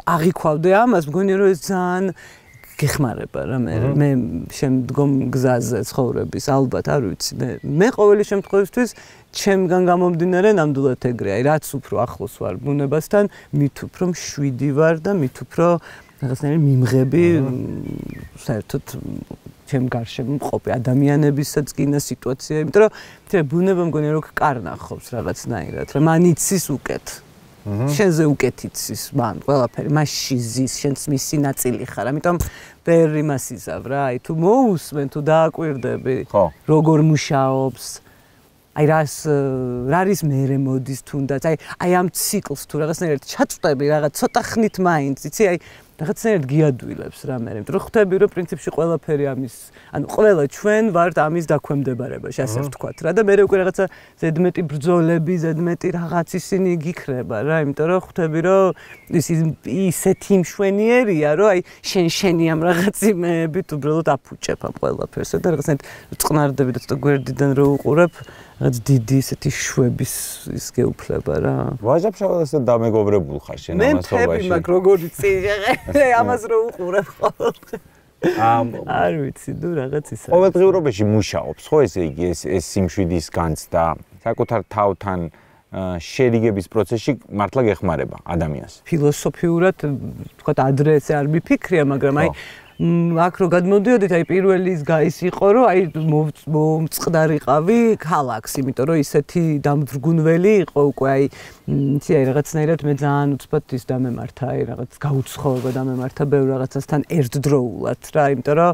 აღიქვავდე ამას, მგონია რომ ეს ძალიან გეხმარება რა მე მე შემდგომ გზაზე ცხოვრების ალბათ არ ვიცი მე მე ყოველი შემთხვევისთვის ჩემგან გამომდინარე ნამდვილად ეგრე აი რაც უფრო ახლოს ვარ ბუნებასთან მით უფრო მშვიდი ვარ და მით უფრო რაღაცნაირი მიმღები საერთოდ ჩემ გარშემო მყოფი ადამიანებისაც გინა სიტუაცია იმიტომ რომ ბუნება მგონია რომ კარნახობს რაღაცნაირად რა მან იცის უკეთ შენზე უკეთ იცის მან ყველაფერი მასში ზის შენც მისი ნაწილი ხარ ამიტომ ვერ იმას იზავ რა აი თუ მოусმენ თუ დააკვირდები როგორ მუშაობს აი რას რა არის მერე მოდის თუნდაც აი აი ამ ციკლს თუ რაღაცნაირად ჩაწვდები რაღაც ცოტა ხნით მაინც იცი აი რაღაცნაირად გიადვილებს რა მე იმიტომ რომ ხვდები რომ პრინციპში ყველაფერი ამის ანუ ყველა ჩვენ ვართ ამის დაქვემდებარებაში ასე ვთქვათ რა და მე უკვე რაღაცა ზედმეტი ბრძოლები ზედმეტი რაღაც ისინი გიქრება რა იმიტომ რომ ხვდები რომ ის ისეთი მშვენიერია რომ აი შენ შენი ამ რაღაც იმეებით უბრალოდ აფუჭებ ამ ყველაფერს და რაღაცნაირად წყნარდები და ცოტა გვერდიდან რო უყურებ რაც დიდი ისეთი შვების ის გეუფლება რა ვაჟაბშავას და დამეგობრებულ ხარ შენ ამასობაში მე ფები მაგ როგორი წიჟე ამას რო უყურებ ხოლმე ამ არ ვიცი ნუ რაღაც ისა ყოველდღიურობაში მუშაობს ხო ესე იგი ეს ეს სიმშვიდის განცდა საკუთარ თავთან შერიგების პროცესში მართლა გეხმარება ადამიანს ფილოსოფიურად თქვა ადრე ესე არ მიფიქრია მაგრამ აი აქ რო გადმოდიოდით, აი პირველი ის იყო, რომ აი მომწყდარიყავი ქალაქს, იმიტომ რომ ისეთი დამძრგუნველი იყო უკვე აი იცი აი რაღაცნაირად მე ძალიან უცბად ის დამემართა, აი რაღაც გაუცხოება დამემართა ბევრ რაღაცასთან ერთდროულად რა, იმიტომ რომ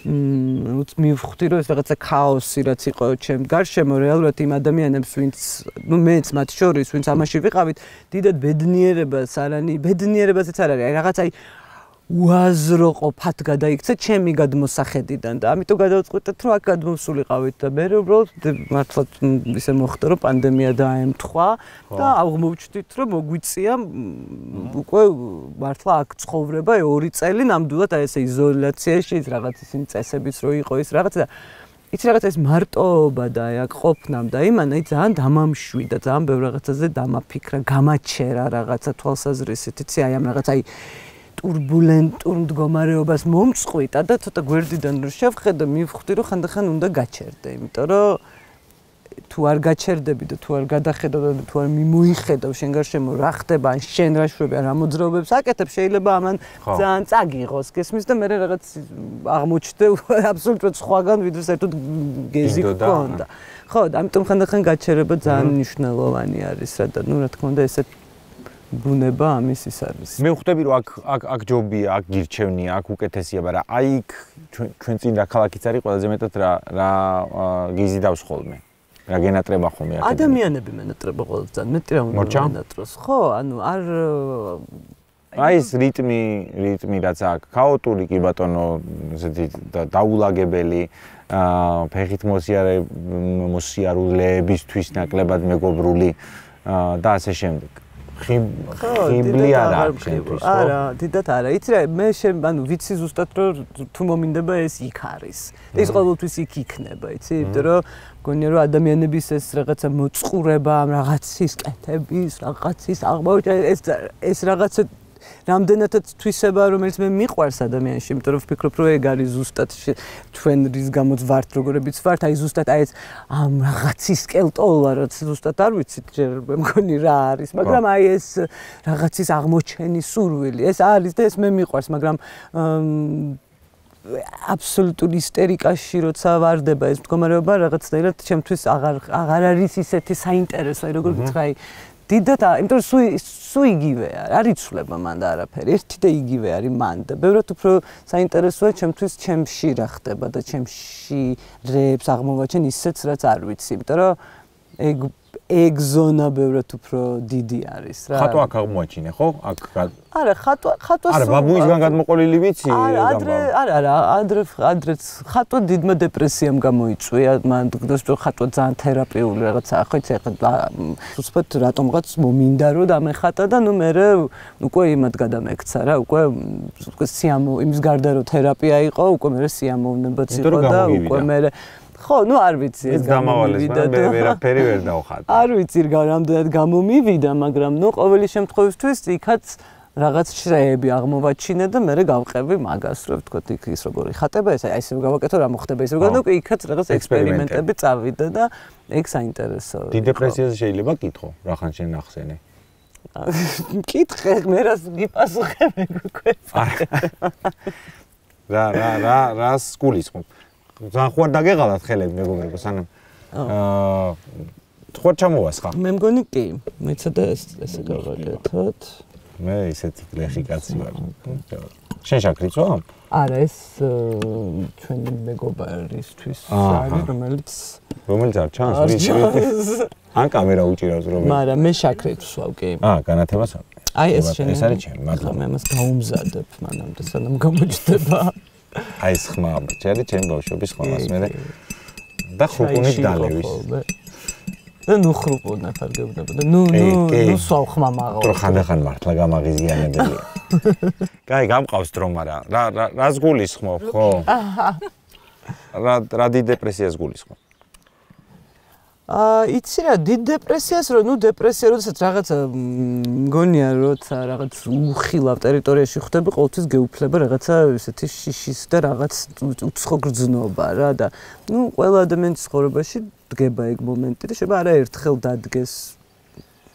მივხვდი რომ ეს რაღაცა ქაოსი რაც იყო ჩემ გარშემო რეალურად იმ ადამიანებს ვინც ნუ მეც მათ შორის ვინც ამაში ვიყავით დიდად ბედნიერებას არანი ბედნიერებაზეც არ არის აი რაღაც აი უაზრო ყოფად გადაიქცა ჩემი გადმოსახედიდან და ამიტომ გადავწყვიტეთ რომ აქ გადმოვსულიყავით და მე უბრალოდ მართლა ისე მოხდა რომ პანდემია დაემთხვა და აღმოვჩნდით რომ მოგვიწია უკვე მართლა აქ ცხოვრება ორი წელი ნამდვილად აი ესე იზოლაციაში ის რაღაც ისინი წესებიც რო იყო ის რაღაც და იცი რაღაც ეს მარტოობა და აი აქ ყოფნამ და იმანა ის ძალიან დამამშვიდა ძალიან ბევრ რაღაცაზე დამაფიქრა გამაჩერა რაღაცა თვალსაზრისით იცი აი ამ რაღაც აი ტურბულენტურ მდგომარეობას მომწყვიტა და ცოტა გვერდიდან რო შევხედე მივხვდი რომ ხანდახან უნდა გაჩერდე იმიტომ რომ თუ არ გაჩერდები და თუ არ გადახედავ და თუ არ მიმოიხედავ შენ გარშემო რა ხდება ან შენ რა შვები რა მოძრაობებს აკეთებ შეიძლება ამან ძალიან წაგიღოს გესმის და მე რაღაც აღმოჩნდა აბსოლუტურად სხვაგან ვიდრე საერთოდ გეზი გქონდა ხო და ამიტომ ხანდახან გაჩერება ძალიან მნიშვნელოვანი არის რა და ნუ რა თქმა უნდა ესეთ ბუნება ამის ის არის. მე ვხვდები რომ აქ აქ აქ ჯობია, აქ გირჩევნია, აქ უკეთესია, მაგრამ აი იქ ჩვენ წინ რა ქალაქიც არის ყველაზე მეტად რა რა გიზიდავს ხოლმე. რა გენატრება ხოლმე აქ. ადამიანები მენატრება ყოველთვის ძალიან მეტი რა უნდა მენატროს. ხო, ანუ არ აი ეს რიტმი, რიტმი რაც აქ ქაოტური კი ბატონო, ესეთი დაულაგებელი აა ფეხით მოსიარე მოსიარულეებისთვის ნაკლებად მეგობრული და ასე შემდეგ. ხიბლი არა შენთვის ხო? არა, დიდად არა. იცი რა, მე შენ ანუ ვიცი ზუსტად რომ თუ მომინდება ეს იქ არის. ეს ყოველთვის იქ იქნება, იცი? იმიტომ რომ გონია რომ ადამიანების ეს რაღაცა მოწყურება, რაღაცის კეთების, რაღაცის აღმოჩენა ეს ეს რაღაცა რამდენადაც თვისება რომელიც მე მიყვარს ადამიანში, იმიტომ რომ ვფიქრობ რომ ეგ არის ზუსტად ჩვენ რის გამოც ვართ როგორებიც ვართ, აი ზუსტად აი ეს ამ რაღაცის კელტოლა რაც ზუსტად არ ვიცით ჯერ მე მგონი რა არის, მაგრამ აი ეს რაღაცის აღმოჩენის სურვილი, ეს არის და ეს მე მიყვარს, მაგრამ აბსოლუტური ისტერიკაში როცა ვარდება ეს მდგომარეობა რაღაცნაირად ჩემთვის აღარ აღარ არის ისეთი საინტერესო, აი როგორ გითხრა აი დიდად, იმიტომ რომ სულ სულ იგივეა, არ იცვლება მან და არაფერი, ერთი და იგივე არის მან და ბევრად უფრო საინტერესოა ჩემთვის ჩემში რა ხდება და ჩემში რებს აღმოვაჩენ ისეც რაც არ ვიცი, იმიტომ რომ ეგ ეგ ზონა ბევრად უფრო დიდი არის რა. ხატვა აქ აღმოაჩინე, ხო? აქ არა, ხატვა ხატვა არა, ბაბუისგან გადმოყოლილი ვიცი? არა, ადრე არა, არა, ადრე ადრეც ხატვა დიდმა დეპრესიამ გამოიწვია, მან დრო ხატვა ძალიან თერაპიული რაღაცაა, ხო იცი, ახლა უცბად რატომღაც მომინდა რომ დამეხატა და ნუ მე უკვე იმად გადამექცა რა, უკვე უკვე სიამო იმის გარდა რომ თერაპია იყო, უკვე მე სიამოვნებაც იყო და უკვე მე ხო, ნუ არ ვიცი ეს გამოვიდა და ვერაფერი ვერ დავხატე. არ ვიცი რამდენად გამომივიდა, მაგრამ ნუ ყოველი შემთხვევისთვის იქაც რაღაც შრეები აღმოვაჩინე და მე გავყევი მაგას, რომ ვთქვათ, იქ ის როგორი ხატება, ეს აი ესე გავაკეთო, რა მოხდება ის როგორ და უკვე იქაც რაღაც ექსპერიმენტები წავიდა და ეგ საინტერესოა. დიდ დეპრესიაზე შეიძლება კითხო, რახან შენ ახსენე. კითხე, მე რას გიპასუხე მე უკვე. რა რა რა რას გულისხმობ? ძალიან ხوار დაგეღალათ ხელები მეგობრებო, სანამ აა ხوار ჩამოვასხა. მე მგონი კი, მეცა და ესე გავაკეთოთ. მე ისეთი გლეხი კაცი ვარ. შენ შაქრიცო? არა, ეს ჩვენი მეგობარისთვის არის, რომელიც რომელიც არ ჩანს, ან კამერა უჭირავს რომ. მაგრამ მე შაქრიც ვსვავ კი. აა, განათებას არ. აი ეს შენ ეს არის ჩემი, მადლობა. მე ამას გაუმზადებ მანამდე, სანამ გამოჩნდება. აი ეს ხმა, ჩემი ჩემი ბავშვობის ხმას მე და ხუპუნით დალევის. და ნუ ხრუპუნა ხარგებდება და ნუ ნუ ნუ სვავ ხმა მაღალ. თორე ხანდახან მართლა გამაღიზიანებელია. კაი, გამყავს დრო, მაგრამ რა რა რას გულისხმობ, ხო? რა რა დიდ დეპრესიას გულისხმობ? აა, იცი რა, დიდ დეპრესიას რო, ნუ დეპრესია, როდესაც რაღაცა მგონია, როცა რაღაც უხილავ ტერიტორიაში ხვდები, ყოველთვის გეუფლება რაღაცა ესეთი შიშის და რაღაც უცხო გრძნობა რა და ნუ ყველა ადამიანის ცხოვრებაში დგება ეგ მომენტი და შეიძლება არა ერთხელ დადგეს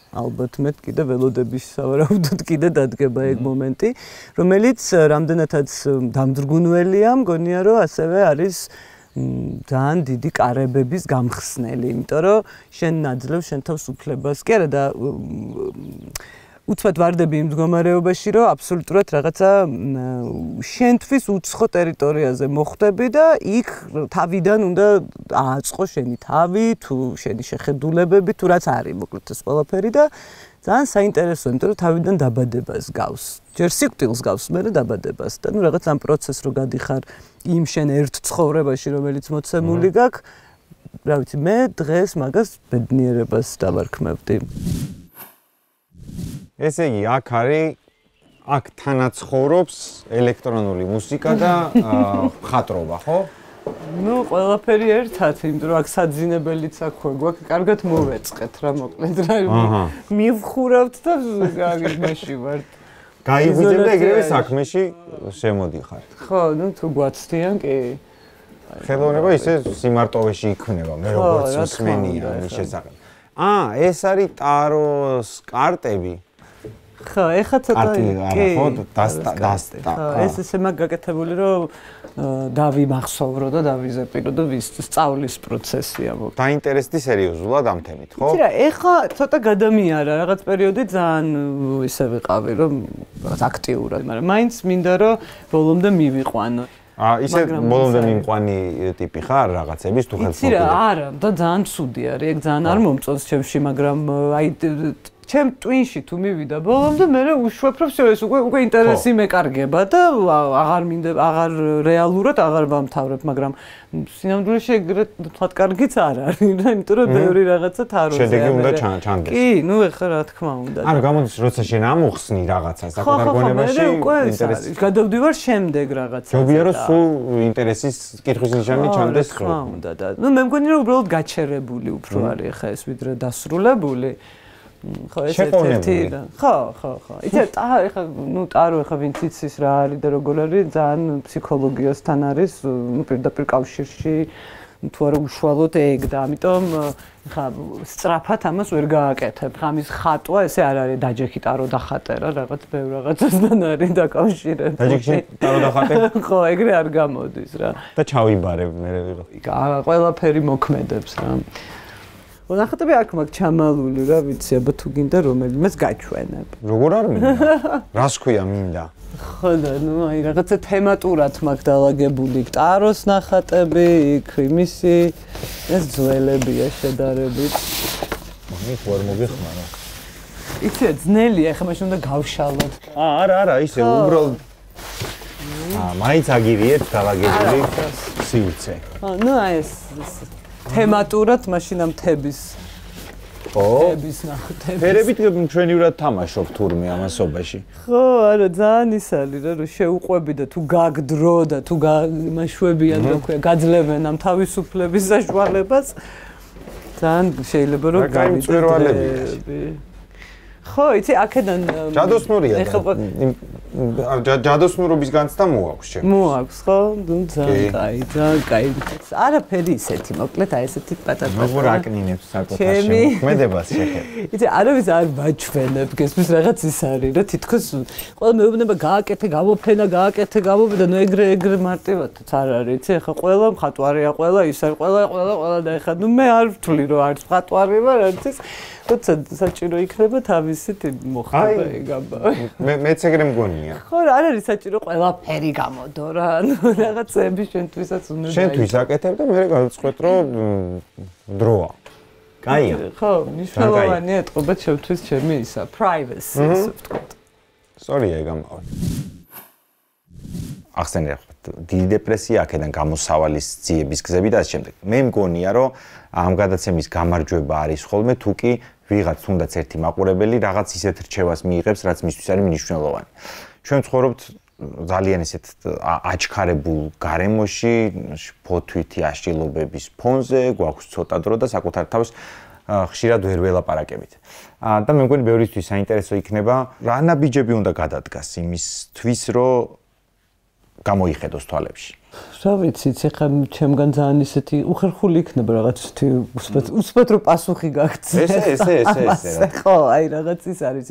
ალბათ მე კიდე ველოდების სავარაუდოდ კიდე დადგება ეგ მომენტი, რომელიც რამდენადაც დამძრგუნველია, მგონია რომ ასევე არის ძალიან დიდი კარებების გამხსნელი, იმიტომ რომ შენ ნაძლევ შენ თავს უფლებას. კი არა და უცბად ვარდები იმ მდგომარეობაში, რომ აბსოლუტურად რაღაცა შენთვის უცხო ტერიტორიაზე მოხვდები და იქ თავიდან უნდა ააწყო შენი თავი, თუ შენი შეხედულებები, თუ რაც არის, მოკლედ ეს ყველაფერი და ძალიან საინტერესოა, იმიტომ რომ თავიდან დაბადებას გავს. ჯერ სიკვდილს გავს, მერე დაბადებას და ნუ რაღაც ამ პროცესს რო გადიხარ იმ შენ ერთ ცხოვრებაში, რომელიც მოცემული გაქვს, რა ვიცი, მე დღეს მაგას ბედნიერებას დავარქმევდი. ესე იგი, აქ არის აქ თანაცხოვრობს ელექტრონული მუსიკა და მხატვრობა, ხო? ნუ ყველაფერი ერთად, იმიტომ რომ აქ საძინებელიც აქვე გვაქვს, კარგად მოვეწყეთ რა მოკლედ რა. მივხურავთ და გაგიმაში ვართ. გაიღვიძებ და ეგრევე საქმეში შემოდიხარ. ხო, ნუ თუ გვაცდიან კი. ხელოვნება ისე სიმარტოვეში იქნება, მე როგორც მსმენია ამის შესახებ. აა, ეს არის ტაროს კარტები. ხო, ეხა ცოტა კი, ხო, დასტა. ეს ესე მაგ გაკეთებული რომ დავიმახსოვრო და დავიზეპირო და ვის სწავლის პროცესია მო. დაინტერესდი სერიოზულად ამ თემით, ხო? იცი რა, ეხა ცოტა გადამიარა რაღაც პერიოდი ძალიან ისე ვიყავი რომ რაღაც აქტიურად, მაგრამ მაინც მინდა რომ ბოლომდე მივიყვანო. აა ისე ბოლომდე მიმყვანი ტიპი ხარ რაღაცების თუ ხელს იცი რა, არა, და ძალიან ცუდი არის, ეგ ძალიან არ მომწონს ჩემში, მაგრამ აი ჩემ ტვინში თუ მივიდა ბოლომდე მე უშვებ რომ ეს უკვე უკვე ინტერესი მეკარგება და აღარ მინდა აღარ რეალურად აღარ ვამთავრებ, მაგრამ სინამდვილეში ეგრეთ თქვათ კარგიც არ არის, იმიტომ რომ ბევრი რაღაცა თაროზე. შედეგი უნდა ჩანდეს. კი, ნუ ეხლა რა თქმა უნდა. ანუ გამოდის როცა შენ ამოხსნი რაღაცას საკუთარ გონებაში ინტერესი. გადავდივარ შემდეგ რაღაცას. ჯობია რომ სულ ინტერესის კითხვის ნიშანი ჩანდეს ხო. რა თქმა უნდა და ნუ მე მგონი რომ უბრალოდ გაჩერებული უფრო არის ეხლა ეს ვიდრე დასრულებული. ხო, ეს ერთ-ერთი და ხო, ხო, ხო. იცი, ეხა ნუ ტარო ეხა ვინც იცის რა არის და როგორ არის, ძალიან ფსიქოლოგიასთან არის, ნუ პირდაპირ კავშირში, თუ არა უშუალოდ ეგ და ამიტომ ეხა სწრაფად ამას ვერ გააკეთებ. ამის ხატვა ესე არ არის დაჯექი ტარო დახატე რა, რაღაც ბევრ რაღაცასთან არის დაკავშირებული. დაჯექი ტარო დახატე? ხო, ეგრე არ გამოდის რა. და ჩავიბარებ მე ვიღო. ყველაფერი მოქმედებს რა. ნახატები აქ მაქვს ჩამალული რა ვიცი, აბა თუ გინდა რომელიმეს გაჩვენებ. როგორ არ მინდა? რას ქვია მინდა? ხო და ნუ აი რაღაცა თემატურად მაქვს დალაგებული ტაროს ნახატები, იქ იმისი ეს ძველებია შედარებით. მაგით ვერ მოგეხმარა. იცი ძნელია, ხა მაშინ უნდა გავშალოთ. აა არა არა, ისე უბრალოდ აა მაინც აგირიეთ დალაგებული სივრცე. აა ნუ აი ეს თემატურად მაშინ ამ თების ხო თების ნახატები ფერებით ჩვენივრად თამაშობ თურმე ამასობაში ხო არა ძალიან ის არის რა რომ შეუყვები და თუ გაგდრო და თუ გამაშვებიან რა ქვია გაძლევენ ამ თავისუფლების საშუალებას ძალიან შეიძლება რომ გამიწვირვალებია ხო იცი აქედან ჯადოსნურია ჯადოსნურობის განცდა მოაქვს ჩემს მოაქვს ხო ძალიან კაი ძალიან კაი არაფერი ისეთი მოკლედ აი ესეთი პატარა როგორ აკნინებს საკუთარ შემოქმედებას შეხება იცი არავის არ ვაჩვენებ გესმის რაღაც ის არის რა თითქოს ყველა მეუბნება გააკეთე გამოფენა გააკეთე გამოფენა ნუ ეგრე ეგრე მარტივადაც არ არის იცი ეხა ყველა მხატვარია ყველა ის არის ყველა ყველა ყველა და ეხა ნუ მე არ ვთვლი რომ არც მხატვარი ვარ არც ის თუმცა საჭირო იქნება თავისით მოხდება ეგ ამბავი. მე მეც ეგრე მგონია. ხო, არ არის საჭირო ყველაფერი გამოდო რა. ანუ რაღაცები შენთვისაც უნდა დაიწყო. შენთვის აკეთებ და მე გავწყვეტ რომ დროა. კაია. ხო, მნიშვნელოვანია ეთყობა შევთვის ჩემი ისა, privacy, ასე ვთქვათ. სორია ეგ ამბავი. ახსენე დიდი დეპრესია აქედან გამოსავალის ძიების გზები და ასე შემდეგ. მე მგონია რომ ამ გადაცემის გამარჯვება არის ხოლმე თუ კი ვიღაც თუნდაც ერთი მაყურებელი რაღაც ისეთ რჩევას მიიღებს, რაც მისთვის არის მნიშვნელოვანი. ჩვენ ცხოვრობთ ძალიან ისეთ აჩქარებულ გარემოში, ფოთვითი აშლილობების ფონზე, გვაქვს ცოტა დრო და საკუთარ თავს ხშირად ვერ ველაპარაკებით. და მე მგონი ბევრისთვის საინტერესო იქნება, რა ნაბიჯები უნდა გადადგას იმისთვის, რომ გამოიხედოს თვალებში. რა ვიცი, ეხლა ჩემგან ძალიან ისეთი უხერხული იქნება რაღაც ისეთი უსპეთრო პასუხი გაგცე. ესე ესე ესე ესე. ხო, აი რაღაც ის არის.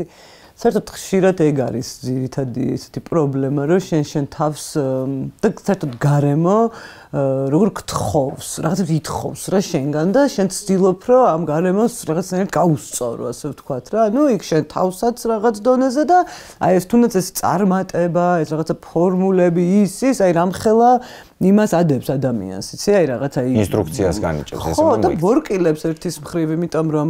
საერთოდ ხშირად ეგ არის ძირითადი ესეთი პრობლემა, რომ შენ შენ თავს და საერთოდ გარემო როგორ გთხოვს, რაღაცებს ითხოვს რა შენგან და შენ ცდილობ, რომ ამ გარემოს რაღაცნაირად გაუსწორო, ასე ვთქვათ რა. ნუ იქ შენ თავსაც რაღაც დონეზე და აი ეს თუნდაც ეს წარმატება, ეს რაღაცა ფორმულები ის ის, აი რამხელა იმას ადებს ადამიანს, იცი? აი რაღაც აი ინსტრუქციას განიჭებს ესე ხო, და ბორკილებს ერთის მხრივ, იმიტომ რომ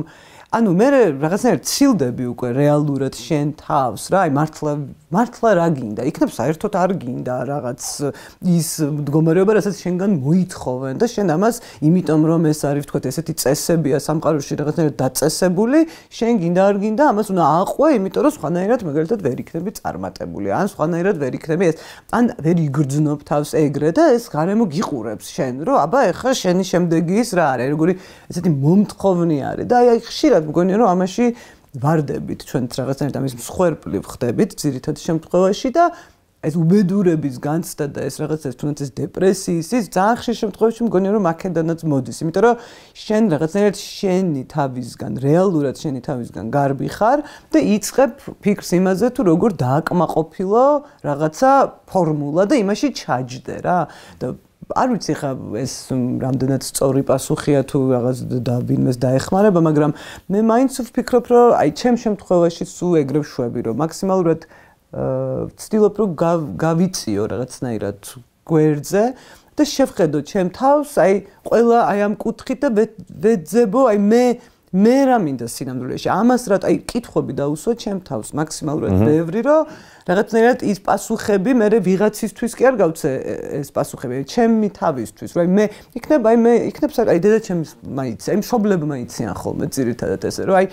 ანუ მე რაღაცნაირად ცილდები უკვე რეალურად შენ თავს რა, აი მართლა მართლა რა გინდა? იქნებ საერთოდ არ გინდა რაღაც ის მდგომარეობა, რასაც შენგან მოითხოვენ და შენ ამას იმიტომ რომ ეს არის ვთქვათ ესეთი წესებია სამყაროში რაღაცნაირად დაწესებული, შენ გინდა არ გინდა ამას უნდა აყვე, იმიტომ რომ სხვანაირად მაგალითად ვერ იქნები წარმატებული, ან სხვანაირად ვერ იქნები ეს, ან ვერ იგრძნობ თავს ეგრე და ეს გარემო გიყურებს შენ, რომ აბა ეხლა შენი შემდეგი ის რა არის, როგორი ესეთი მომთხოვნი არის და აი ხშირად მგონია რომ ამაში ვარდებით ჩვენ რაღაცნაირად ამის მსხვერპლი ვხდებით ძირითადი შემთხვევაში და ეს უბედურების განცდა და ეს რაღაცა თუნდაც ეს დეპრესიის ის ძალიან ხშირ შემთხვევაში მგონია რომ აქედანაც მოდის, იმიტომ რომ შენ რაღაცნაირად შენი თავისგან რეალურად შენი თავისგან გარბი ხარ და იწყებ ფიქრს იმაზე თუ როგორ დააკმაყოფილო რაღაცა ფორმულა და იმაში ჩაჯდე რა და არ ვიცი ხა ეს რამდენად სწორი პასუხია თუ რაღაც და ვინმეს დაეხმარება, მაგრამ მე მაინც ვფიქრობ, რომ აი ჩემ შემთხვევაში სულ ეგრევ შვები, რომ მაქსიმალურად ვცდილობ, რომ გავიწიო რაღაცნაირად გვერდზე და შევხედო ჩემ თავს, აი ყველა აი ამ კუთხით და ვეძებო, აი მე მე რა მინდა სინამდვილეში ამას რა აი კითხვები დაუსვა ჩემ თავს მაქსიმალურად ბევრი რომ რაღაცნაირად ის პასუხები მე ვიღაცისთვის კი არ გავცე ეს პასუხები ჩემი თავისთვის რა მე იქნებ აი მე იქნებ აი დედაჩემს მაიცი აი მშობლებმა იციან ხოლმე ძირითადად ესე რომ აი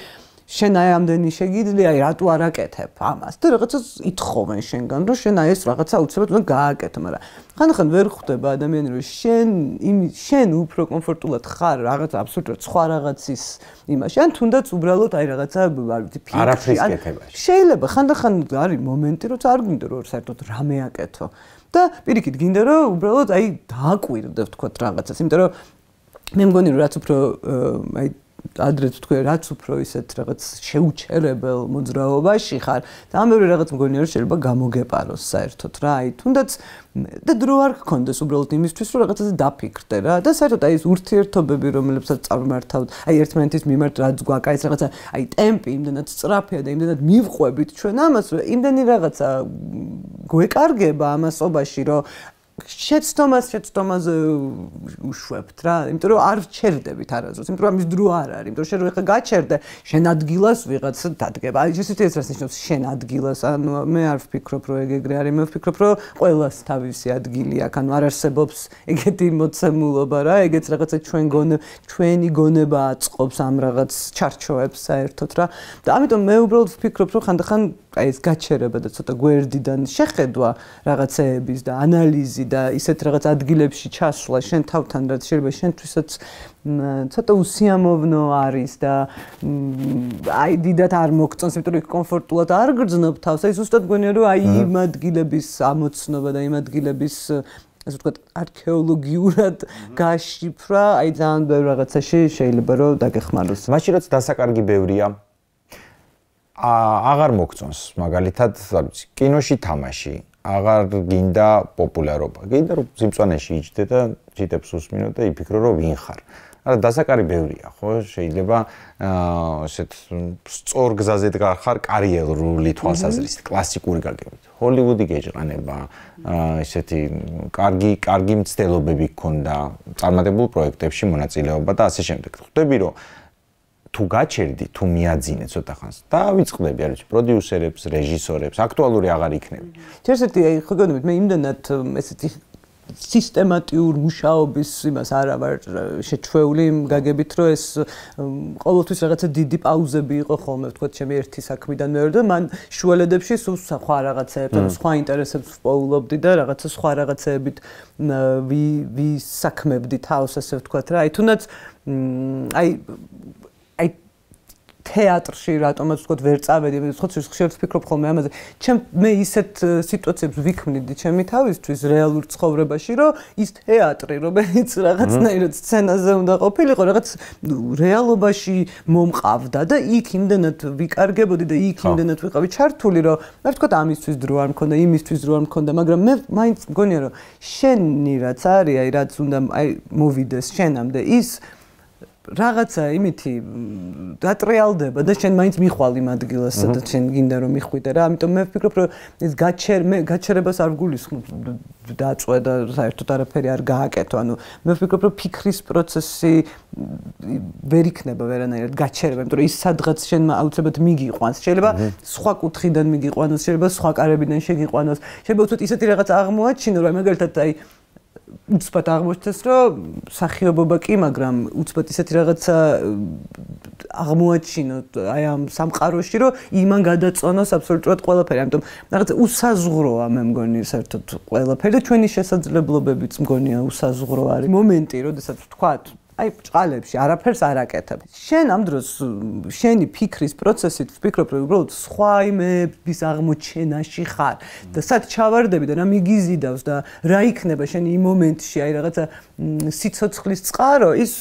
შენ აი ამდენი შეგიძლია აი რატო არ აკეთებ ამას და რაღაცას ითხოვენ შენგან რომ შენ აი ეს რაღაცა უცებად უნდა გააკეთო მაგრამ ხანდახან ვერ ხვდება ადამიანი რომ შენ იმ შენ უფრო კომფორტულად ხარ რაღაც აბსოლუტურად სხვა რაღაცის იმაში ან თუნდაც უბრალოდ აი რაღაცა არ ვიცი არაფრის კეთებაში შეიძლება ხანდახან არის მომენტი როცა არ გინდა რომ საერთოდ რამე აკეთო და პირიქით გინდა რომ უბრალოდ აი დააკვირდე ვთქვათ რაღაცას იმიტომ რომ მე მგონი რომ რაც უფრო აი ადრე თქვი რაც უფრო ისეთ რაღაც შეუჩერებელ მოძრაობაში ხარ და ამ მეორე რაღაც მგონია რომ შეიძლება გამოგეპაროს საერთოდ რა აი თუნდაც და დრო არ გქონდეს უბრალოდ იმისთვის რომ რაღაცაზე დაფიქრდე რა და საერთოდ აი ეს ურთიერთობები რომლებსაც წარმართავთ აი ერთმანეთის მიმართ რაც გვაქვს აი ეს რაღაცა აი ტემპი იმდენად სწრაფია და იმდენად მივყვებით ჩვენ ამას იმდენი რაღაცა გვეკარგება ამასობაში რომ შეცდომას შეცდომაზე უშვებთ რა, იმიტომ რომ არ ვჩერდებით არასდროს, იმიტომ რომ ამის დრო არ არის, იმიტომ რომ შენ რო ეხლა გაჩერდე, შენ ადგილას ვიღაცა დადგება. აი ესეთი ეს რას ნიშნავს შენ ადგილას, ანუ მე არ ვფიქრობ რომ ეგ ეგრე არის, მე ვფიქრობ რომ ყველას თავისი ადგილი აქვს, ანუ არ არსებობს ეგეთი მოცემულობა რა, ეგეც რაღაცა ჩვენ გონე, ჩვენი გონება აწყობს ამ რაღაც ჩარჩოებს საერთოდ რა. და ამიტომ მე უბრალოდ ვფიქრობ რომ ხანდახან აი ეს გაჩერება და ცოტა გვერდიდან შეხედვა რაღაცეების და ანალიზი და ისეთ რაღაც ადგილებში ჩასვლა შენ თავთან რაც შეიძლება შენთვისაც ცოტა უსიამოვნო არის და აი დიდად არ მოგწონს, იმიტომ რომ იქ კომფორტულად არ გრძნობ თავს. აი ზუსტად გონია რომ აი იმ ადგილების ამოცნობა და იმ ადგილების ასე ვთქვათ არქეოლოგიურად გაშიფრა, აი ძალიან ბევრ რაღაცაში შეიძლება რომ დაგეხმაროს. მაშინ რაც დასაკარგი ბევრია აღარ მოგწონს მაგალითად არ ვიცი კინოში თამაში აღარ გინდა პოპულარობა გინდა რომ სიმწვანეში იჯდე და ჩიტებს უსმინო და იფიქრო რომ ვინ ხარ არა დასაკარი ბევრია ხო შეიძლება ესეთ სწორ გზაზე დგახარ კარიერული თვალსაზრისით კლასიკური გაგებით ჰოლივუდი გეჭყანება ესეთი კარგი კარგი მცდელობები გქონდა წარმატებულ პროექტებში მონაწილეობა და ასე შემდეგ ხვდები რომ თუ გაჩერდი, თუ მიაძინე ცოტა ხანს. დავიწყდები, არ ვიცი, პროდიუსერებს, რეჟისორებს, აქტუალური აღარ იქნები. ერთ-ერთი აი ხო გონებით, მე იმდანად ესეთი სისტემატიურ მუშაობის იმას არა ვარ შეჩვეული გაგებით, რომ ეს ყოველთვის რაღაცა დიდი პაუზები იყო ხოლმე, ვთქვათ, ჩემი ერთი საქმიდან მეორე და მან შუალედებში სულ სხვა რაღაცეებს, ანუ სხვა ინტერესებს ვპოულობდი და რაღაცა სხვა რაღაცეებით ვისაქმებდი თავს, ასე ვთქვათ რა. აი თუნდაც აი აი თეატრში რატომაც ვთქვათ ვერ წავედი, ვთქვათ ხშირად ვფიქრობ ხოლმე ამაზე. ჩემ მე ისეთ სიტუაციებს ვიქმნიდი ჩემი თავისთვის რეალურ ცხოვრებაში, რომ ის თეატრი, რომელიც რაღაცნაირად სცენაზე უნდა ყოფილიყო, რაღაც რეალობაში მომყავდა და იქ იმდენად ვიკარგებოდი და იქ იმდენად ვიყავი ჩართული, რომ მე ვთქვათ ამისთვის დრო არ მქონდა, იმისთვის დრო არ მქონდა, მაგრამ მე მაინც მგონია, რომ შენი რაც არის, აი რაც უნდა აი მოვიდეს შენამდე ის რაღაცა იმითი დატრიალდება და შენ მაინც მიხვალ იმ ადგილას, სადაც შენ გინდა რომ მიხვიდე რა. ამიტომ მე ვფიქრობ, რომ ის გაჩერ მე გაჩერებას არ გულისხმობ დაწვე და საერთოდ არაფერი არ გააკეთო. ანუ მე ვფიქრობ, რომ ფიქრის პროცესი ვერ იქნება ვერანაირად გაჩერება, იმიტომ რომ ის სადღაც შენ აუცილებლად მიგიყვანს. შეიძლება სხვა კუთხიდან მიგიყვანოს, შეიძლება სხვა კარებიდან შეგიყვანოს. შეიძლება უცბად ისეთი რაღაც აღმოაჩინო, რომ მაგალითად აი უცბად აღმოჩნდეს, რომ სახიობობა კი, მაგრამ უცბად ისეთი რაღაცა აღმოაჩინოთ აი ამ სამყაროში, რომ იმან გადაწონოს აბსოლუტურად ყველაფერი. ამიტომ რაღაცა უსაზღვროა მე მგონი საერთოდ ყველაფერი და ჩვენი შესაძლებლობებიც მგონია უსაზღვრო არის. მომენტი, როდესაც ვთქვათ აი ბჭყალებში არაფერს არ აკეთებ. შენ ამ დროს შენი ფიქრის პროცესით ვფიქრობ, რომ უბრალოდ სხვა იმების აღმოჩენაში ხარ და სად ჩავარდები და რა მიგიზიდავს და რა იქნება შენი იმ მომენტში, აი რაღაცა სიცოცხლის წყარო, ის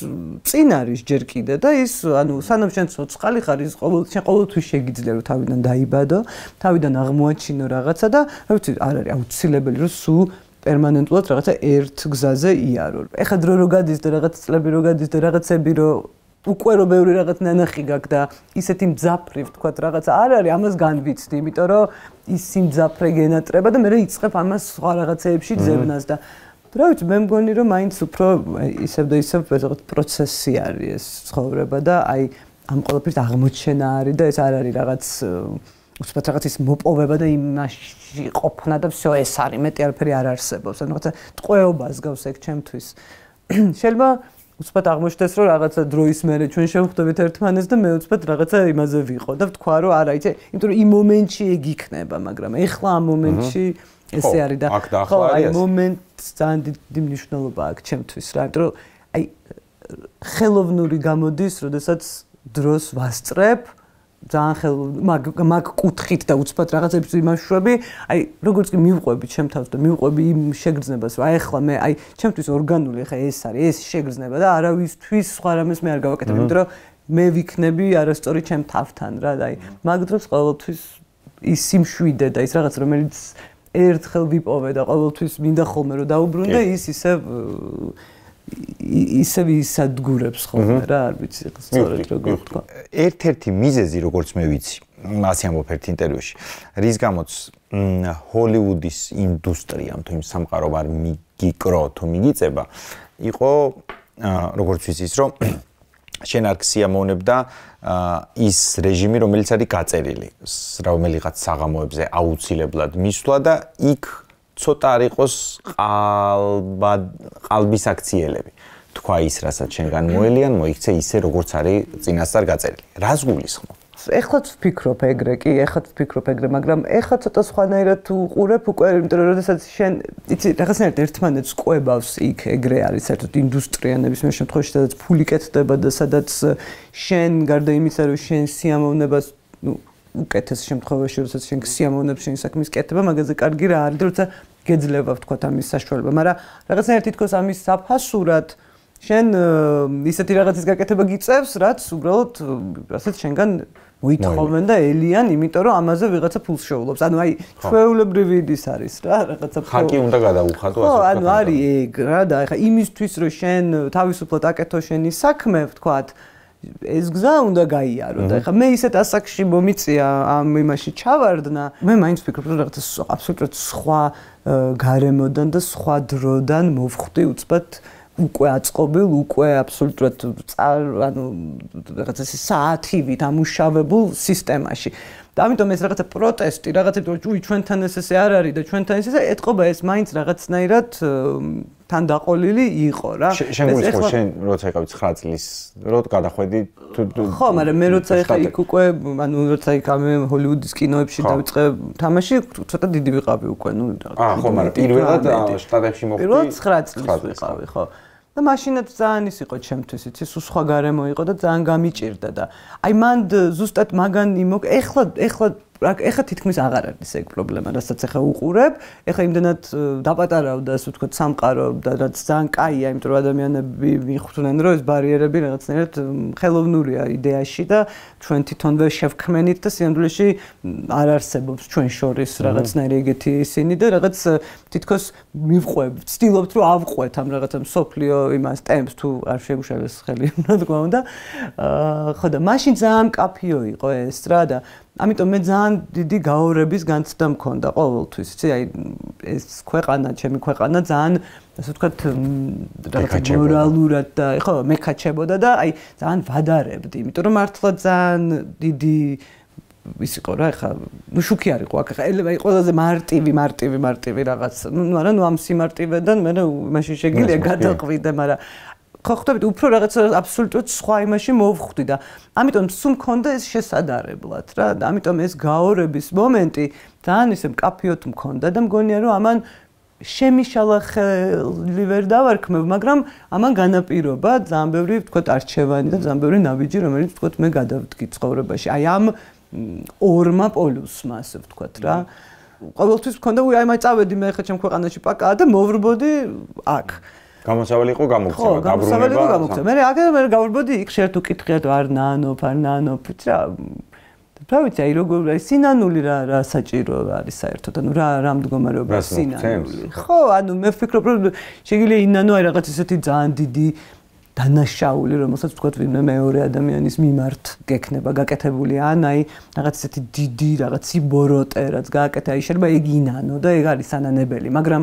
წინ არის ჯერ კიდე და ის ანუ სანამ შენ ცოცხალი ხარ, ის ყოველ შენ ყოველთვის შეგიძლია რომ თავიდან დაიბადო, თავიდან აღმოაჩინო რაღაცა და რა ვიცი, არ არის აუცილებელი რომ სულ პერმანენტულად რაღაცა ერთ გზაზე იარო. ეხლა დრო რო გადის და რაღაც წლები რო გადის და რაღაცები რო უკვე რო ბევრი რაღაც ნანახი გაქვს და ისეთი მძაფრი ვთქვათ რაღაცა არ არის, ამას განვიცდი, იმიტომ რომ ის სიმძაფრე გენატრება და მე იწყებ ამას სხვა რაღაცეებში ძებნას და რა ვიცი, მე მგონი რომ მაინც უფრო ისევ და ისევ რაღაც პროცესი არის ეს ცხოვრება და აი ამ ყველაფრის აღმოჩენა არის და ეს არ არის რაღაც უცბად რაღაც ის მოპოვება და იმაში ყოფნა და всё ეს არის, მეტი არაფერი არ არსებობს. ანუ რაღაცა ტყვეობას გავს ეგ ჩემთვის. შეიძლება უცბად აღმოჩნდეს, რომ რაღაცა დროის მერე ჩვენ შევხვდებით ერთმანეთს და მე უცბად რაღაცა იმაზე ვიყო და ვთქვა, რომ არა, იცი, იმიტომ რომ იმ მომენტში ეგ იქნება, მაგრამ ეხლა ამ მომენტში ესე არის და ხო, აი მომენტს ძალიან დიდი მნიშვნელობა აქვს ჩემთვის რა, იმიტომ რომ აი ხელოვნური გამოდის, როდესაც დროს ვასწრებ ძალიან ხელ მაგ მაგ კუთხით და უცბად რაღაცებს იმაშვები, აი როგორც კი მივყვები ჩემ თავს და მივყვები იმ შეგრძნებას, რომ აი ახლა მე აი ჩემთვის ორგანული ახლა ეს არის, ეს შეგრძნება და არავისთვის სხვა რამეს მე არ გავაკეთებ, იმიტომ რომ მე ვიქნები არასწორი ჩემ თავთან რა და აი მაგ დროს ყოველთვის ის სიმშვიდე და ის რაღაც რომელიც ერთხელ ვიპოვე და ყოველთვის მინდა ხოლმე რომ დაუბრუნდე, ის ისევ ისევ ისადგურებს ხოლმე რა, არ ვიცი სწორედ როგორ ვთქვა. ერთ-ერთი მიზეზი, როგორც მე ვიცი, ასე ამბობ ერთ ინტერვიუში, რის გამოც ჰოლივუდის ინდუსტრიამ თუ იმ სამყარომ არ მიგიკრო თუ მიგიწება, იყო როგორც ვიცი ის, რომ შენ არ გსიამოვნებდა ის რეჟიმი, რომელიც არის გაწერილი, რომელიღაც საღამოებზე აუცილებლად მისვლა და იქ ცოტა არ იყოს ყალბის აქციელები. თქვა ის, რასაც შენგან მოელიან, მოიქცე ისე, როგორც არის წინასწარ გაწერილი. რას გულისხმობ? ეხლაც ვფიქრობ ეგრე, კი, ეხლაც ვფიქრობ ეგრე, მაგრამ ეხლა ცოტა სხვანაირად უყურებ უკვე, იმიტომ რომ როდესაც შენ, იცი, რაღაცნაირად ერთმანეთს ყვებავს იქ ეგრე არის საერთოდ ინდუსტრია ნებისმიერ შემთხვევაში, სადაც ფული კეთდება და სადაც შენ გარდა იმისა, რომ შენ სიამოვნებას, ნუ უკეთეს შემთხვევაში, როდესაც შენ სიამოვნებს შენი საქმის კეთება, მაგაზე კარგი რა არის და როცა გეძლება ვთქვათ ამის საშუალება, მაგრამ რაღაცნაირად თითქოს ამის საფასურად შენ ისეთი რაღაცის გაკეთება გიწევს, რაც უბრალოდ რასაც შენგან მოითხოვენ და ელიან, იმიტომ რომ ამაზე ვიღაცა ფულს შეულობს. ანუ აი ჩვეულებრივი ის არის რა, რაღაცა ხაკი უნდა გადაუხადო ასე. ხო, ანუ არის ეგ რა და ეხა იმისთვის რომ შენ თავისუფლად აკეთო შენი საქმე, ვთქვათ, ეს გზა უნდა გაიარო და ეხა მე ისეთ ასაკში მომიწია ამ იმაში ჩავარდნა. მე მაინც ვფიქრობ რომ რაღაცა აბსოლუტურად სხვა გარემოდან და სხვა დროდან მოვხვდი უცბად უკვე აწყობილ, უკვე აბსოლუტურად ანუ რაღაცა საათივით ამუშავებულ სისტემაში. და ამიტომ ეს რაღაცა პროტესტი, რაღაცა უი ჩვენთან ეს ესე არ არის და ჩვენთან ეს ესე ეთყობა ეს მაინც რაღაცნაირად თან დაყოლილი იყო რა. შენ გულისხმობ შენ როცა იყავი ცხრა წლის, რო გადახვედი თუ ხო, მაგრამ მე როცა ეხა იქ უკვე ანუ როცა იქ ამ ჰოლივუდის კინოებში დავიწყე თამაში, ცოტა დიდი ვიყავი უკვე, ნუ აა ხო, მაგრამ პირველად შტატებში მოხვდი. პირველად ცხრა წლის ვიყავი, ხო. და მაშინაც ძალიან ის იყო ჩემთვის, იცი, სულ სხვა გარემო იყო და ძალიან გამიჭირდა და აი მან ზუსტად მაგან იმო ეხლა ეხლა ეხლა თითქმის აღარ არის ეგ პრობლემა, რასაც ეხლა უყურებ, ეხლა იმდანად დაპატარავდა, ასე ვთქვათ, სამყარო და რაც ძალიან კაია, იმიტომ რომ ადამიანები მიხვდნენ, რომ ეს ბარიერები რაღაცნაირად ხელოვნურია იდეაში და ჩვენ თვითონვე შევქმნით და სინამდვილეში არ არსებობს ჩვენ შორის რაღაცნაირი ეგეთი ისინი და რაღაც თითქოს მივყვებ, ვცდილობთ რომ ავყვეთ ამ რაღაცა მსოფლიო იმას ტემპს თუ არ შეგვშალეს ხელი, რა თქმა უნდა. ხო და მაშინ ძალიან კაფიო იყო ეს რა და ამიტომ მე ძალიან დიდი გაორების განცდა მქონდა ყოველთვის, იცი, აი ეს ქვეყანა, ჩემი ქვეყანა ძალიან ასე ვთქვათ, რაღაც მორალურად და ხო, მეკაჩებოდა და აი ძალიან ვადარებდი, იმიტომ რომ მართლა ძალიან დიდი ის იყო რა, ხა, ნუ შუქი არ იყო, აქ ხა აი ყველაზე მარტივი, მარტივი, მარტივი რაღაც. ნუ არა, ნუ ამ სიმარტივედან მე მაშინ შეგიძლია გადაყვიდე, მაგრამ ხო ხვდებით, უფრო რაღაცა აბსოლუტურად სხვა იმაში მოვხვდი და ამიტომ სულ მქონდა ეს შესადარებლად რა და ამიტომ ეს გაორების მომენტი ძალიან ისე მკაფიოდ მქონდა და მგონია რომ ამან შემიშალა ხელი ვერ დავარქმევ, მაგრამ ამან განაპირობა ძალიან ბევრი ვთქვათ არჩევანი და ძალიან ბევრი ნაბიჯი, რომელიც ვთქვათ მე გადავდგი ცხოვრებაში. აი ამ ორმა პოლუსმა, ასე ვთქვათ რა. ყოველთვის მქონდა, უი აი მაი წავედი მე ხა ჩემ ქვეყანაში პაკაა და მოვრბოდი აქ. გამოსავალი იყო გამოგცემა, დაბრუნება. ხო, გამოსავალი იყო გამოგცემა. მე აგერ მე გავვრბოდი იქ შენ თუ კითხიათ არ ნანოფ, არ ნანოფ, რა. რა ვიცი, აი როგორ აი სინანული რა რა საჭირო არის საერთოდ, ანუ რა რა მდგომარეობა სინანული. ხო, ანუ მე ვფიქრობ რომ შეიძლება ინანო აი რაღაც ისეთი ძალიან დიდი დანაშაული, რომელსაც ვთქვათ ვინმე მეორე ადამიანის მიმართ გექნება გაკეთებული, ან აი რაღაც ისეთი დიდი რაღაც იბოროტე რაც გააკეთა, აი შეიძლება ეგ ინანო და ეგ არის ანანებელი, მაგრამ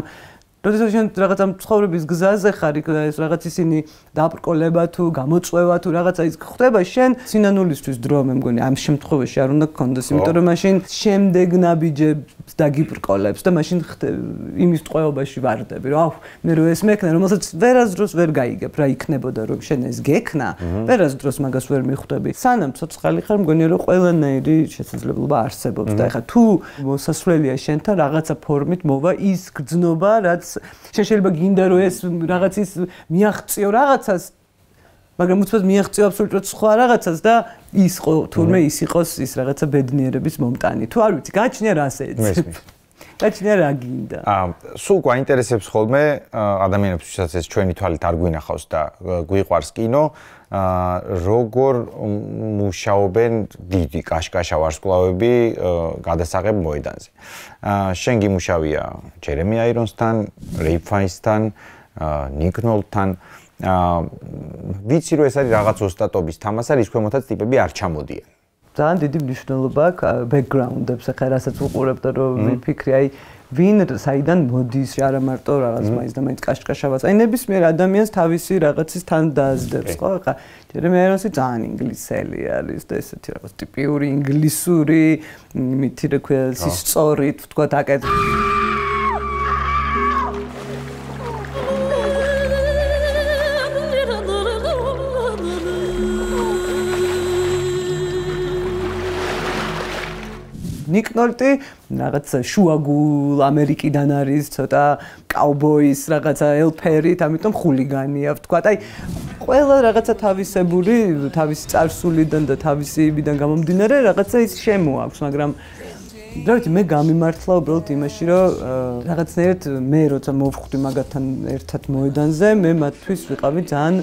როდესაც შენ რაღაცა ცხოვრების გზაზე ხარ, ეს რაღაც ისინი დაბრკოლება თუ გამოწვევა თუ რაღაცა ის ხდება, შენ სინანულისთვის დრო მე მგონი ამ შემთხვევაში არ უნდა გქონდეს, იმიტომ რომ მაშინ შემდეგ ნაბიჯებს დაგიბრკოლებს და მაშინ იმის ტყვეობაში ვარდები, რომ აუ მე რო ეს მექნა, რომელსაც ვერასდროს ვერ გაიგებ, რა იქნებოდა რომ შენ ეს გექნა, ვერასდროს მაგას ვერ მიხვდები. სანამ ცოცხალი ხარ, მგონია რომ ყველანაირი შესაძლებლობა არსებობს და ეხლა თუ მოსასვლელია შენთან რაღაცა ფორმით მოვა ის გრძნობა, რაც შენ შეიძლება გინდა რომ ეს რაღაც ის მიაღწიო რაღაცას, მაგრამ უცბად მიაღწიო აბსოლუტურად სხვა რაღაცას და ის ხო თურმე ის იყოს ის რაღაცა ბედნიერების მომტანი. თუ არ ვიცი, გაჩნია რას ეცებ. გაჩნია რა გინდა. აა, სულ გვაინტერესებს ხოლმე ადამიანებს, ვისაც ეს ჩვენი თვალით არ გვინახავს და გვიყვარს კინო, აა როგორ მუშაობენ დიდი კაშკაშა ვარსკვლავები გადასაღებ მოედანზე. აა შენ გიმუშავია ჯერემი აირონსთან, რეიფ ფაინსთან, ნიკ ნოლთან. აა ვიცი რომ ეს არის რაღაც ოსტატობის თამასა, რის ქვემოთაც ტიპები არ ჩამოდიან. ძალიან დიდი მნიშვნელობა აქვს ბექგრაუნდებს, ახლა რასაც უყურებ და რომ ვიფიქრი, აი ვინ საიდან მოდის, არა მარტო რაღაც მაინც და მაინც კაშკაშავას. აი ნებისმიერ ადამიანს თავისი რაღაცის თან დაასდებს, ხო? ახლა ჯერემი აირონსი ძალიან ინგლისელი არის და ესეთი რაღაც ტიპიური ინგლისური, მითი რა ქვია, სწორით, ვთქვათ, აკეთ ნიკ ნოლტი რაღაც შუაგულ ამერიკიდან არის, ცოტა კაუბოის რაღაცა ელფერით, ამიტომ ხულიგანია, ვთქვათ. აი ყველა რაღაცა თავისებური, თავისი წარსულიდან და თავისი იმიდან გამომდინარე რაღაცა ის შემოაქვს, მაგრამ რა ვიცი, მე გამიმართლა უბრალოდ იმაში, რომ რაღაცნაირად მე როცა მოვხვდი მაგათთან ერთად მოედანზე, მე მათთვის ვიყავი ძალიან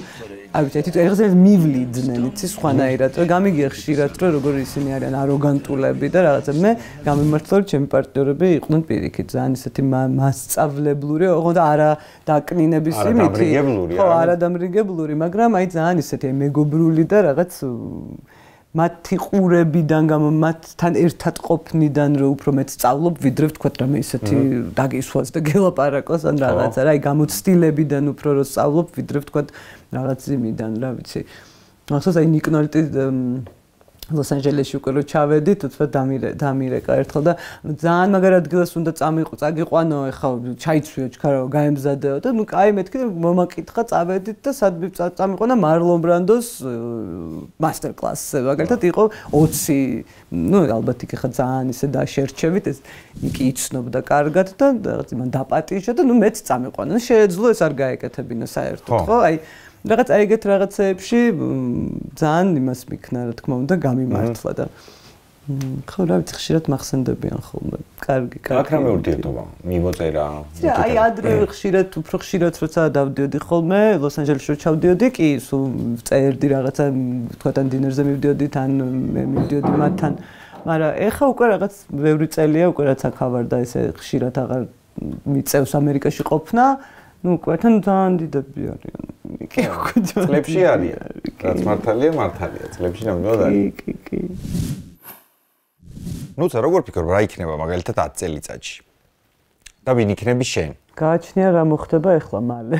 აი ვიცი, ეგრე მივლიდნენ, იცი, სხვანაირად. გამიგია ხშირად, რომ როგორ ისინი არიან აროგანტულები და რაღაცა. მე გამიმართლა, რომ ჩემი პარტნიორები იყვნენ პირიქით, ძალიან ისეთი მასწავლებლური, ოღონდ არა დაკნინების იმითი. ხო, არა დამრიგებლური, მაგრამ აი ძალიან ისეთი მეგობრული და რაღაც მათი ყურებიდან გამო მათთან ერთად ყოფნიდან რომ უფრო მეც სწავლობ, ვიდრე ვთქვათ რამე ისეთი დაგისვას და გელაპარაკოს ან რაღაცა, რა, აი გამოცდილებიდან უფრო რომ სწავლობ, ვიდრე ვთქვათ რაღაც იმიდან, რა ვიცი. ახლა აი ნიკ ნოლტი ლოს-ანჯელესში უკვე რო ჩავედით, თქო დამირეკა ერთხელ და ძალიან მაგარ ადგილას უნდა წამიყო, წაგიყვანო, ეხა ჩაიცვიო ჩქარო, გაემზადეო და ნუ კაი მეთქი მომაკითხა, წავედით და სად წამიყო და მარლონ ბრანდოს მასტერ კლასზე, მაგალითად იყო ოცი, ნუ ალბათ იქ ხა ძალიან ისე დაშერჩევით, ეს იქ იცნობდა კარგად და რაღაც იმან დაპატიჟა და ნუ მეც წამიყვანა. შეეძლო ეს არ გაეკეთებინა საერთოდ, ხო? აი რაღაც აიგეთ რაღაცეებში ძალიან იმას მიქნა რა თქმა უნდა გამიმართლა და ხო რა ვიცი ხშირად მახსენდებიან ხოლმე კარგი კარგი აქ რამე ურთიერთობა მიმოწერა აი ადრე ხშირად უფრო ხშირად როცა დავდიოდი ხოლმე ლოს-ანჯელესში ჩავდიოდი კი სულ წერდი რაღაცა თქვენ დინერზე მივდიოდი თან მე მივდიოდი მათთან მაგრამ ეხა უკვე რაღაც ბევრი წელია უკვე რაც აქ ავარ და ესე ხშირად აღარ მიწევს ამერიკაში ყოფნა ну, კვეთენ ძალიან დიდები არიან. კი, უკვე წლებში არიან. რაც მართალია, მართალია. წლებში ნამდვილად არის. კი, კი. ну, ცა როგორ ფიქრობ, რა იქნება მაგალითად ათი წელიწადში? და ვინ იქნები შენ? გააჩნია რა მოხდება ახლა მალე.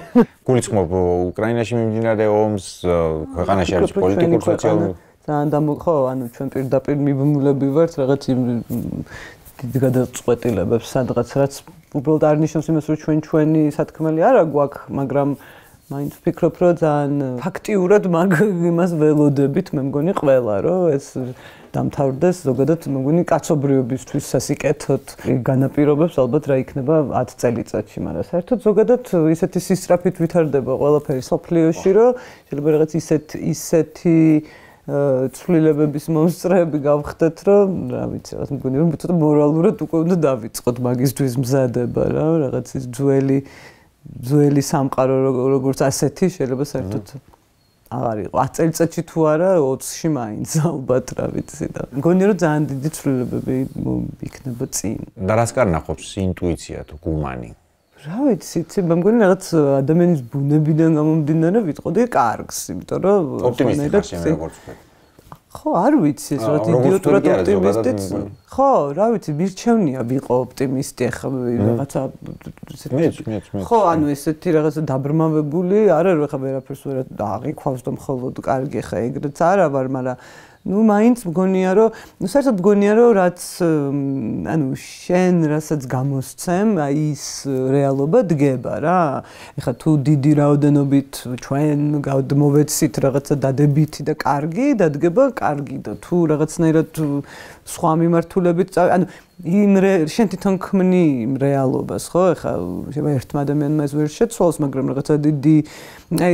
გულისხმობ უკრაინაში მიმდინარე ომს, ქვეყანაში არის პოლიტიკურ სოციალურ ძალიან დამო ხო, ანუ ჩვენ პირდაპირ მიბმულები ვართ რაღაც იმ დიდ გადაწყვეტილებებს სადღაც რაც უბრალოდ არ ნიშნავს იმას, რომ ჩვენ ჩვენი სათქმელი არა გვაქვს, მაგრამ მაინც ვფიქრობ, რომ ძალიან ფაქტიურად მაგ იმას ველოდებით, მე მგონი ყველა, რომ ეს დამთავრდეს ზოგადად, მე მგონი კაცობრიობისთვის სასიკეთოდ განაპირობებს ალბათ რა იქნება ათი წელიწადში, მაგრამ საერთოდ ზოგადად ისეთი სისწრაფით ვითარდება ყველაფერი სოფლიოში, რომ შეიძლება რაღაც ისეთ ისეთი ცვლილებების მომსწრეები გავხდეთ, რომ რა ვიცი, რაღაც მგონი რომ ცოტა მორალურად უკვე უნდა დავიწყოთ მაგისთვის მზადება რა, რაღაც ის ძველი ძველი სამყარო როგორც ასეთი შეიძლება საერთოდ აღარ იყო. ათი წელიწადში თუ არა, ოცში მაინც ალბათ რა ვიცი და მგონი რომ ძალიან დიდი ცვლილებები იქნება წინ. და რას კარნახობს ინტუიცია თუ გუმანი? რა ვიცი, მე მგონი რაღაც ადამიანის ბუნებიდან გამომდინარე ვიტყოდი კარგს, იმიტომ რომ ოპტიმისტი ხარ როგორც ვთქვი. ხო, არ ვიცი, ეს რაღაც იდიოტურად ოპტიმისტიც. ხო, რა ვიცი, მირჩევნია ვიყო ოპტიმისტი, ახლა რაღაცა მეც, მეც, მეც. ხო, ანუ ესეთი რაღაცა დაბრმავებული, არა რომ ახლა ვერაფერს ვერ აღიქვავს და მხოლოდ კარგი ახლა ეგრეც არა ვარ, მაგრამ ну, მაინც მგონია რომ, ну, საერთოდ მგონია რომ რაც ანუ შენ რასაც გამოსცემ, აი ის რეალობა დგება რა. ეხლა თუ დიდი რაოდენობით ჩვენ გადმოვეცით რაღაცა დადებითი და კარგი, დადგება კარგი და თუ რაღაცნაირად სხვა მიმართულებით, ანუ იმ შენ თვითონ ქმნი იმ რეალობას, ხო? ეხლა შეიძლება ერთმა ადამიანმა ეს ვერ შეცვალოს, მაგრამ რაღაცა დიდი აი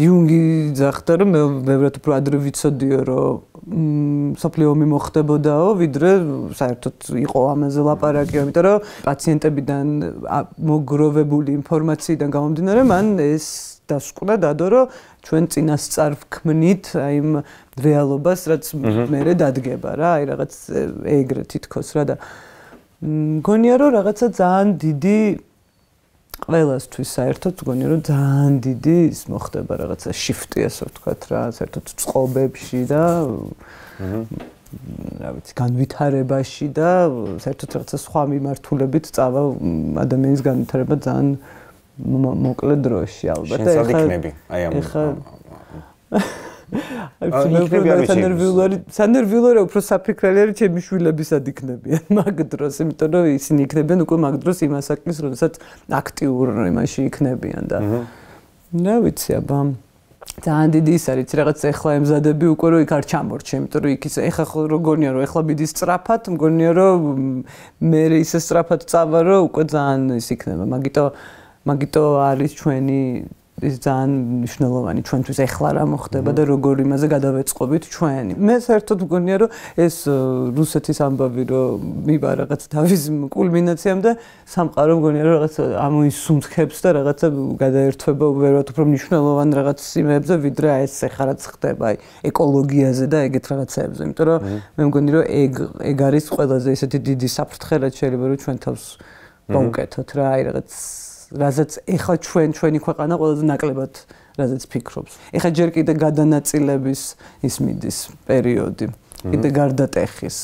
იუნგი ძახდა რომ მე ბევრად უფრო ადრე ვიცოდიო რომ სოფლიო ომი მოხდებოდაო, ვიდრე საერთოდ იყო ამაზე ლაპარაკი, იმიტომ რომ პაციენტებიდან მოგროვებული ინფორმაციიდან გამომდინარე, მან ეს დასკვნა დადო, რომ ჩვენ წინასწარ ვქმნით აი იმ რეალობას, რაც მერე დადგება რა, აი რაღაც ეგრე თითქოს რა და მგონია რომ რაღაცა ძალიან დიდი ყველასთვის საერთოდ მგონია რომ ძალიან დიდი ის მოხდება რაღაცა shifti ასე ვთქვათ რა, საერთოდ წყობებში და რა ვიცი, განვითარებაში და საერთოდ რაღაცა სხვა მიმართულებით წავა ადამიანის განვითარება ძალიან მოკლე დროში ალბათ. შენ სად იქნები? აი ამ სანერვიულარი, სანერვიულარი უფრო საფიქრელი არის ჩემი შვილებისად იქნებიან მაგ დროს, იმიტომ რომ ისინი იქნებიან უკვე მაგ დროს იმ ასაკის, როდესაც აქტიურ იმაში იქნებიან და რა ვიცი, აბა ძალიან დიდი ის არის, რაღაც ეხლა ემზადები უკვე რომ იქ არ ჩამორჩე, იმიტომ რომ იქ ის ეხლა როგორია რომ ეხლა მიდის სწრაფად, მგონია რომ მე ისე სწრაფად წავა რომ უკვე ძალიან ის იქნება, მაგიტო მაგიტო არის ჩვენი ის ძალიან მნიშვნელოვანი ჩვენთვის ეხლა რა მოხდება და როგორ იმაზე გადავეწყობით ჩვენი. მე საერთოდ მგონია რომ ეს რუსეთის ამბავი რომ მივა რაღაც თავის კულმინაციამდე სამყარო მგონია რომ რაღაც ამოისუნთქებს და რაღაცა გადაერთვება უბრალოდ უფრო მნიშვნელოვან რაღაც იმებზე ვიდრე ეს ეხლა რაც ხდება აი ეკოლოგიაზე და ეგეთ რაღაცებზე. იმიტომ რომ მე მგონი რომ ეგ ეგ არის ყველაზე ისეთი დიდი საფრთხე რაც შეიძლება რომ ჩვენ თავს გავუკეთოთ რა აი რაღაც რაზეც ეხლა ჩვენ ჩვენი ქვეყანა ყველაზე ნაკლებად რაზეც ფიქრობს. ეხლა ჯერ კიდე გადანაწილების ის მიდის პერიოდი. კიდე გარდატეხის,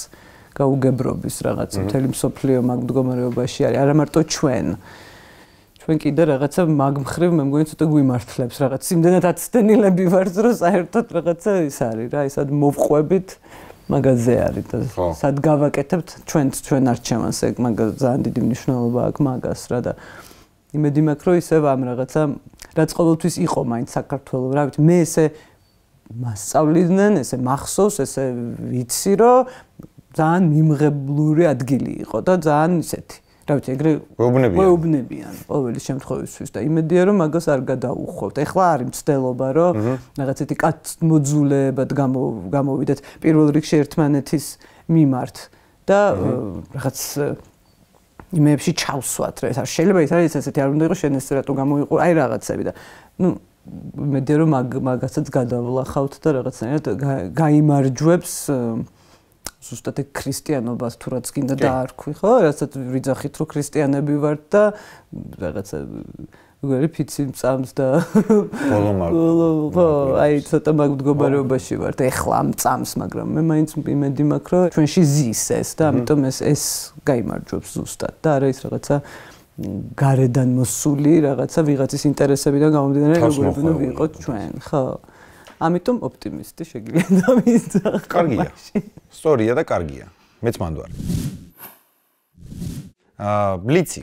გაუგებრობის რაღაც მთელი მსოფლიო მაგ მდგომარეობაში არის. არა მარტო ჩვენ. ჩვენ კიდე რაღაცა მაგ მხრივ მე მგონი ცოტა გვიმართლებს რაღაც იმდენად აცდენილები ვართ, რომ საერთოდ რაღაცა ის არის რა, ისად მოვყვებით მაგაზე არის და სად გავაკეთებთ ჩვენც ჩვენ არჩევანს ეგ მაგას ძალიან დიდი მნიშვნელობა აქვს მაგას რა და იმედი მაქვს რომ ისევ ამ რაღაცა რაც ყოველთვის იყო მაინც საქართველოს რა ვიცი მე ესე მასწავლიდნენ ესე მახსოვს ესე ვიცი რომ ძალიან მიმღებლური ადგილი იყო და ძალიან ისეთი რა ვიცი ეგრე გვეუბნებიან ყოველი შემთხვევისთვის და იმედია რომ მაგას არ გადაუხვევთ. ეხლა არის მცდელობა რომ რაღაცეთი კაცმოძულებად გამოვიდეთ პირველ რიგში ერთმანეთის მიმართ და რაღაც იმებში ჩავსვათ რა ეს არ შეიძლება ის არის ესეთი არ უნდა იყოს შენ ეს რატო გამოიყო აი რაღაცები და ნუ იმედია რომ მაგასაც გადავლახავთ და რაღაცნაირად გაიმარჯვებს ზუსტად ეგ ქრისტიანობას თუ რაც გინდა დაარქვი ხო რასაც ვიძახით რომ ქრისტიანები ვართ და რაღაცა როგორი ფიცი მწამს და ხო აი ცოტა მაგ მდგომარეობაში ვართ ეხლა მწამს მაგრამ მე მაინც იმედი მაქვს რომ ჩვენში ზის ეს და ამიტომ ეს ეს გაიმარჯვებს ზუსტად და არა ის რაღაცა გარედან მოსული რაღაცა ვიღაცის ინტერესებიდან გამომდინარე როგორი უნდა ვიყოთ ჩვენ ხო ამიტომ ოპტიმისტი შეგიძლია დამისძახო. კარგია. სწორია და კარგია. მეც მანდვარ. აა ბლიცი.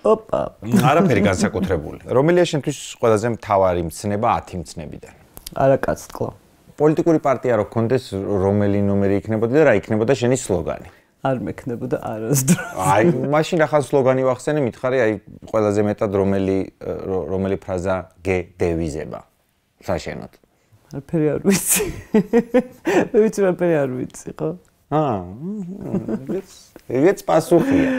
ოპა. არაფერი განსაკუთრებული. რომელია შენთვის ყველაზე მთავარი მცნება ათი მცნებიდან? არა კაცწყლო. პოლიტიკური პარტია რო გქონდეს რომელი ნომერი იქნებოდა და რა იქნებოდა შენი სლოგანი? არ მექნებოდა არასდროს. აი, მაშინ ახალ სლოგანი ვახსენე, მითხარი აი ყველაზე მეტად რომელი რომელი ფრაზა გედევიზება. საშენოთ. არაფერი არ ვიცი. მე ვიცი არაფერი არ ვიცი, ხო? აა. ეგეც პასუხია.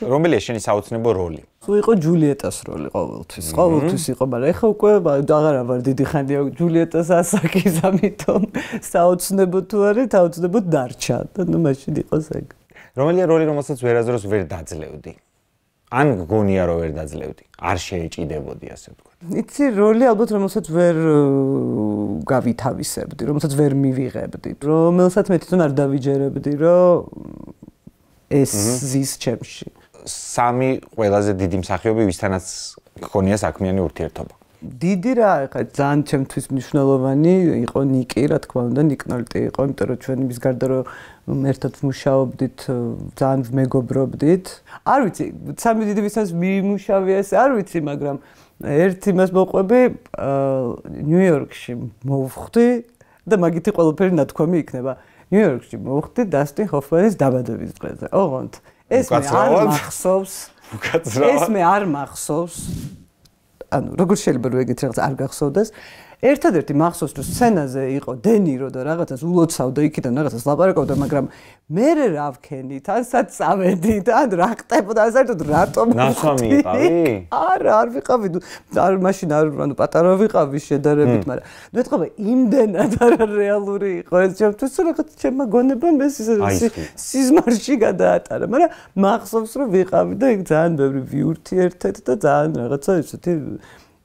რომელია შენი საოცნებო როლი? თუ იყო ჯულიეტას როლი ყოველთვის. ყოველთვის იყო, მაგრამ ეხა უკვე აღარა ვარ დიდი ხანია ჯულიეტას ასაკის, ამიტომ საოცნებო თუ არის, საოცნებო დარჩა და ნუ მაშინ იყოს ეგ. რომელია როლი, რომელსაც ვერაზროს ვერ დაძლევდი? ან გგონია რომ ვერ დაძლევდი? არ შეეჭიდებოდი ასე ვთქვათ. იცი როლი ალბათ რომელსაც ვერ გავითავისებდი, რომელსაც ვერ მივიღებდი, რომელსაც მე თვითონ არ დავიჯერებდი, რომ ეს ზის ჩემში. სამი ყველაზე დიდი მსახიობი ვისთანაც გქონია საქმიანი ურთიერთობა. დიდი რა, ხა ძალიან ჩემთვის მნიშვნელოვანი იყო ნიკი, რა თქმა უნდა, ნიკ ნოლტი იყო, იმიტომ რომ ჩვენ იმის გარდა რომ ერთად ვმუშაობდით, ძალიან ვმეგობრობდით. არ ვიცი, სამი დიდი ვისთანაც მიმუშავია ეს, არ ვიცი, მაგრამ ერთ იმას მოყვები, ნიუ-იორკში მოვხვდი და მაგითი ყველაფერი ნათქვამი იქნება. ნიუ-იორკში მოვხვდი დასტინ ჰოფმანის დაბადების დღეზე. ოღონდ ეს მე არ მახსოვს. ეს მე არ მახსოვს. ანუ როგორ შეიძლება რომ ეგეთ რაღაც არ გახსოვდეს? ერთადერთი მახსოვს რომ სცენაზე იყო დენირო და რაღაცას ულოცავდა იქიდან რაღაცას ლაპარაკობდა, მაგრამ მე რა ვქენით, ან სად წავედით, ან რა ხდებოდა, საერთოდ რატომ ნასვამი იყავი? არა, არ ვიყავი, არ მაშინ არ ანუ პატარა ვიყავი შედარებით, მაგრამ ნუ ეთქობა იმდენად არა რეალური იყო ეს ჩემთვის, რაღაც ჩემმა გონებამ ეს სიზმარში გადაატარა, მაგრამ მახსოვს რომ ვიყავი და იქ ძალიან ბევრი ვიურთიერთეთ და ძალიან რაღაცა ესეთი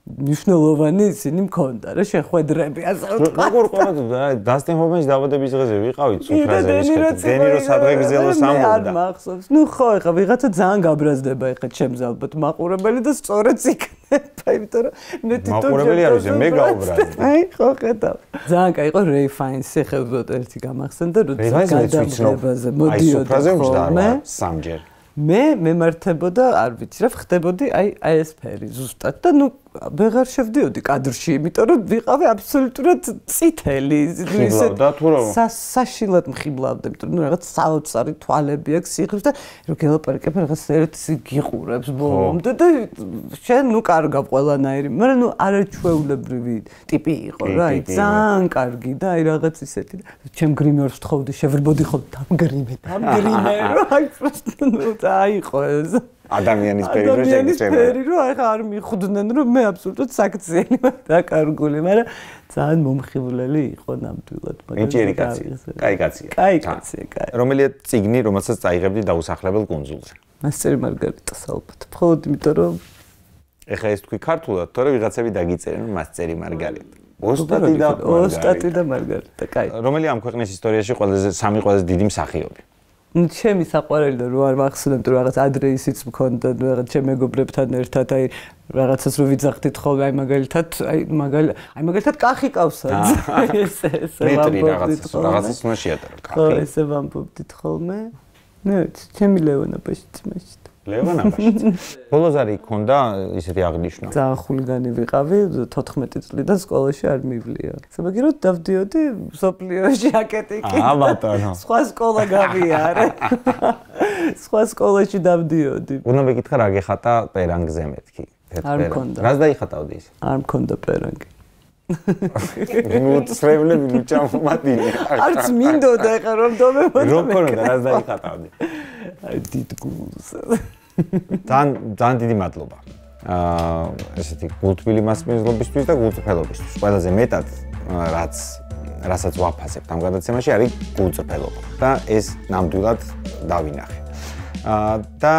მნიშვნელოვანი ისინი მქონდა რა შეხვედრები ასე ვთქვა. როგორ ყოლოდა დასტინ ჰოფმანის დაბადების დღეზე ვიყავით სუფრაზე ვისკეთ. დენირო სადღე გზელოს ამბობდა. არ მახსოვს. ნუ ხო, ეხა ვიღაცა ძალიან გაბრაზდება ეხა ჩემს ალბათ მაყურებელი და სწორედ იქნება, იმიტომ რომ მე თვითონ მაყურებელი არ ვიცი, მე გაუბრაზდი. აი, ხო ხედავ. ძალიან კაი იყო რეი ფაინსი, ხებოდ ერთი გამახსენდა, როცა გადამღებაზე მოდიოდა ხოლმე. სამჯერ. მე მემართებოდა, არ ვიცი რა, ხდებოდი აი აი ეს ფერი ზუსტად და ნუ ვეღარ შევდიოდი კადრში, იმიტომ რომ ვიყავი აბსოლუტურად წითელი, ისე საშილად მხიბლავდი, იმიტომ რომ ნუ რაღაც საოცარი თვალები აქვს, სიღრმის და რო გელაპარაკებ რაღაც ერთ გიყურებს ბოლომდე და შენ ნუ კარგავ ყველანაირი, მაგრამ ნუ არაჩვეულებრივი ტიპი იყო რა, აი ძალიან კარგი და აი რაღაც ისეთი და ჩემ გრიმერს ვთხოვდი, შევრბოდი ხოლმე დამგრიმე, დამგრიმერო, აი პროსტო ნუ აიყო ეს ადამიანის ფერი რო შეგწევა. ადამიანის ფერი რო ახლა არ მიხვდნენ რომ მე აბსოლუტურად საქციელი ვარ დაკარგული, მაგრამ ძალიან მომხიბვლელი იყო ნამდვილად, მაგრამ ეჭიერი კაცია. კაი კაცია. კაი კაცია, კაი. რომელია წიგნი, რომელსაც წაიღებდი დაუსახლებელ კუნძულზე? მასწერი მარგარიტას ალბათ. მხოლოდ იმიტომ რომ ეხა ეს თქვი ქართულად, თორე ვიღაცები დაგიწერენ რომ მასწერი მარგარიტა. ოსტატი და ოსტატი და მარგარიტა, კაი. რომელია ამ ქვეყნის ისტორიაში ყველაზე სამი ყველაზე დიდი მსახიობი? ჩემი საყვარელი და რო არ მახსოვებ თუ რაღაც ადრე ისიც მქონდა რაღაც ჩემ მეგობრებთან ერთად აი რაღაცას რო ვიძახდით ხოლმე აი მაგალითად აი მაგალ აი მაგალითად კახი ყავსა ეს ეს მეტრი რაღაცას რაღაცას უნდა შეატარო კახი ხო ესე ვამბობდით ხოლმე ნუ ჩემი ლეონა ბაშიცმაში ლეონა ბაშიცი ბოლოს არის ქონდა ისეთი აღნიშვნა ძალიან ხულიგანი ვიყავი თოთხმეტი წლიდან სკოლაში არ მივლია სამაგიეროდ დავდიოდი სოფლიოში აკეტიკი აა ბატონო სხვა სკოლა გავიარე სხვა სკოლაში დავდიოდი უნდა მეკითხა რა გეხატა პერანგზე მეთქი არ მქონდა რას დაიხატავდი ის არ მქონდა პერანგი ნუ წრევლები ნუ ჩამომადინე არც მინდოდა ეხა რომ დომებოდა რო ქონდა რას დაიხატავდი აი დიდგულს ძალიან ძალიან დიდი მადლობა აა ესეთი გულთბილი მასპინძლობისთვის და გულწრფელობისთვის ყველაზე მეტად რაც რასაც ვაფასებთ ამ გადაცემაში არის გულწრფელობა და ეს ნამდვილად დავინახე აა და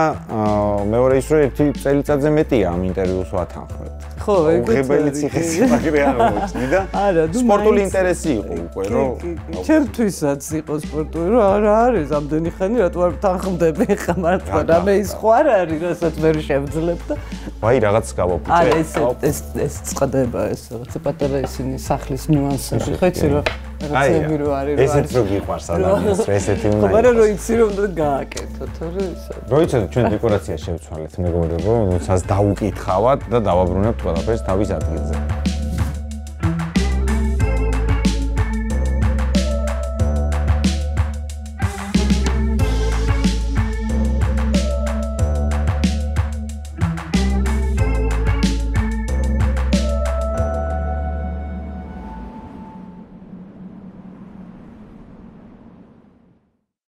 მეორე ის რომ ერთი წელიწადზე მეტია ამ ინტერვიუს ვათანხმებთ ხო ეგრე ციხესიმაგრე აღმოჩნდა და არა სპორტული ინტერესი იყო უკვე რომ ჩემთვისაც იყო სპორტული რომ არა არის ამდენი ხანი რატო არ თანხმდები ხა მართლა რამე ის ხო არ არის რასაც ვერ შევძლებ და ვაი რაღაც გავაფუჭე არა ეს ეს ეს წყდება ეს რაღაცა პატარა ისინი სახლის ნიუანსები ხო იცი რომ რაღაცები რო არის რო ესეც რო გიყვარს ადამიანს ესეთი უნდა ხო მაგრამ რო იცი რომ გააკეთო თორე ისა რო იცი ჩვენ დეკორაცია შევცვალეთ მეგობრებო ნუცას დაუკითხავად და დავაბრუნებთ ყველაფერს თავის ადგილზე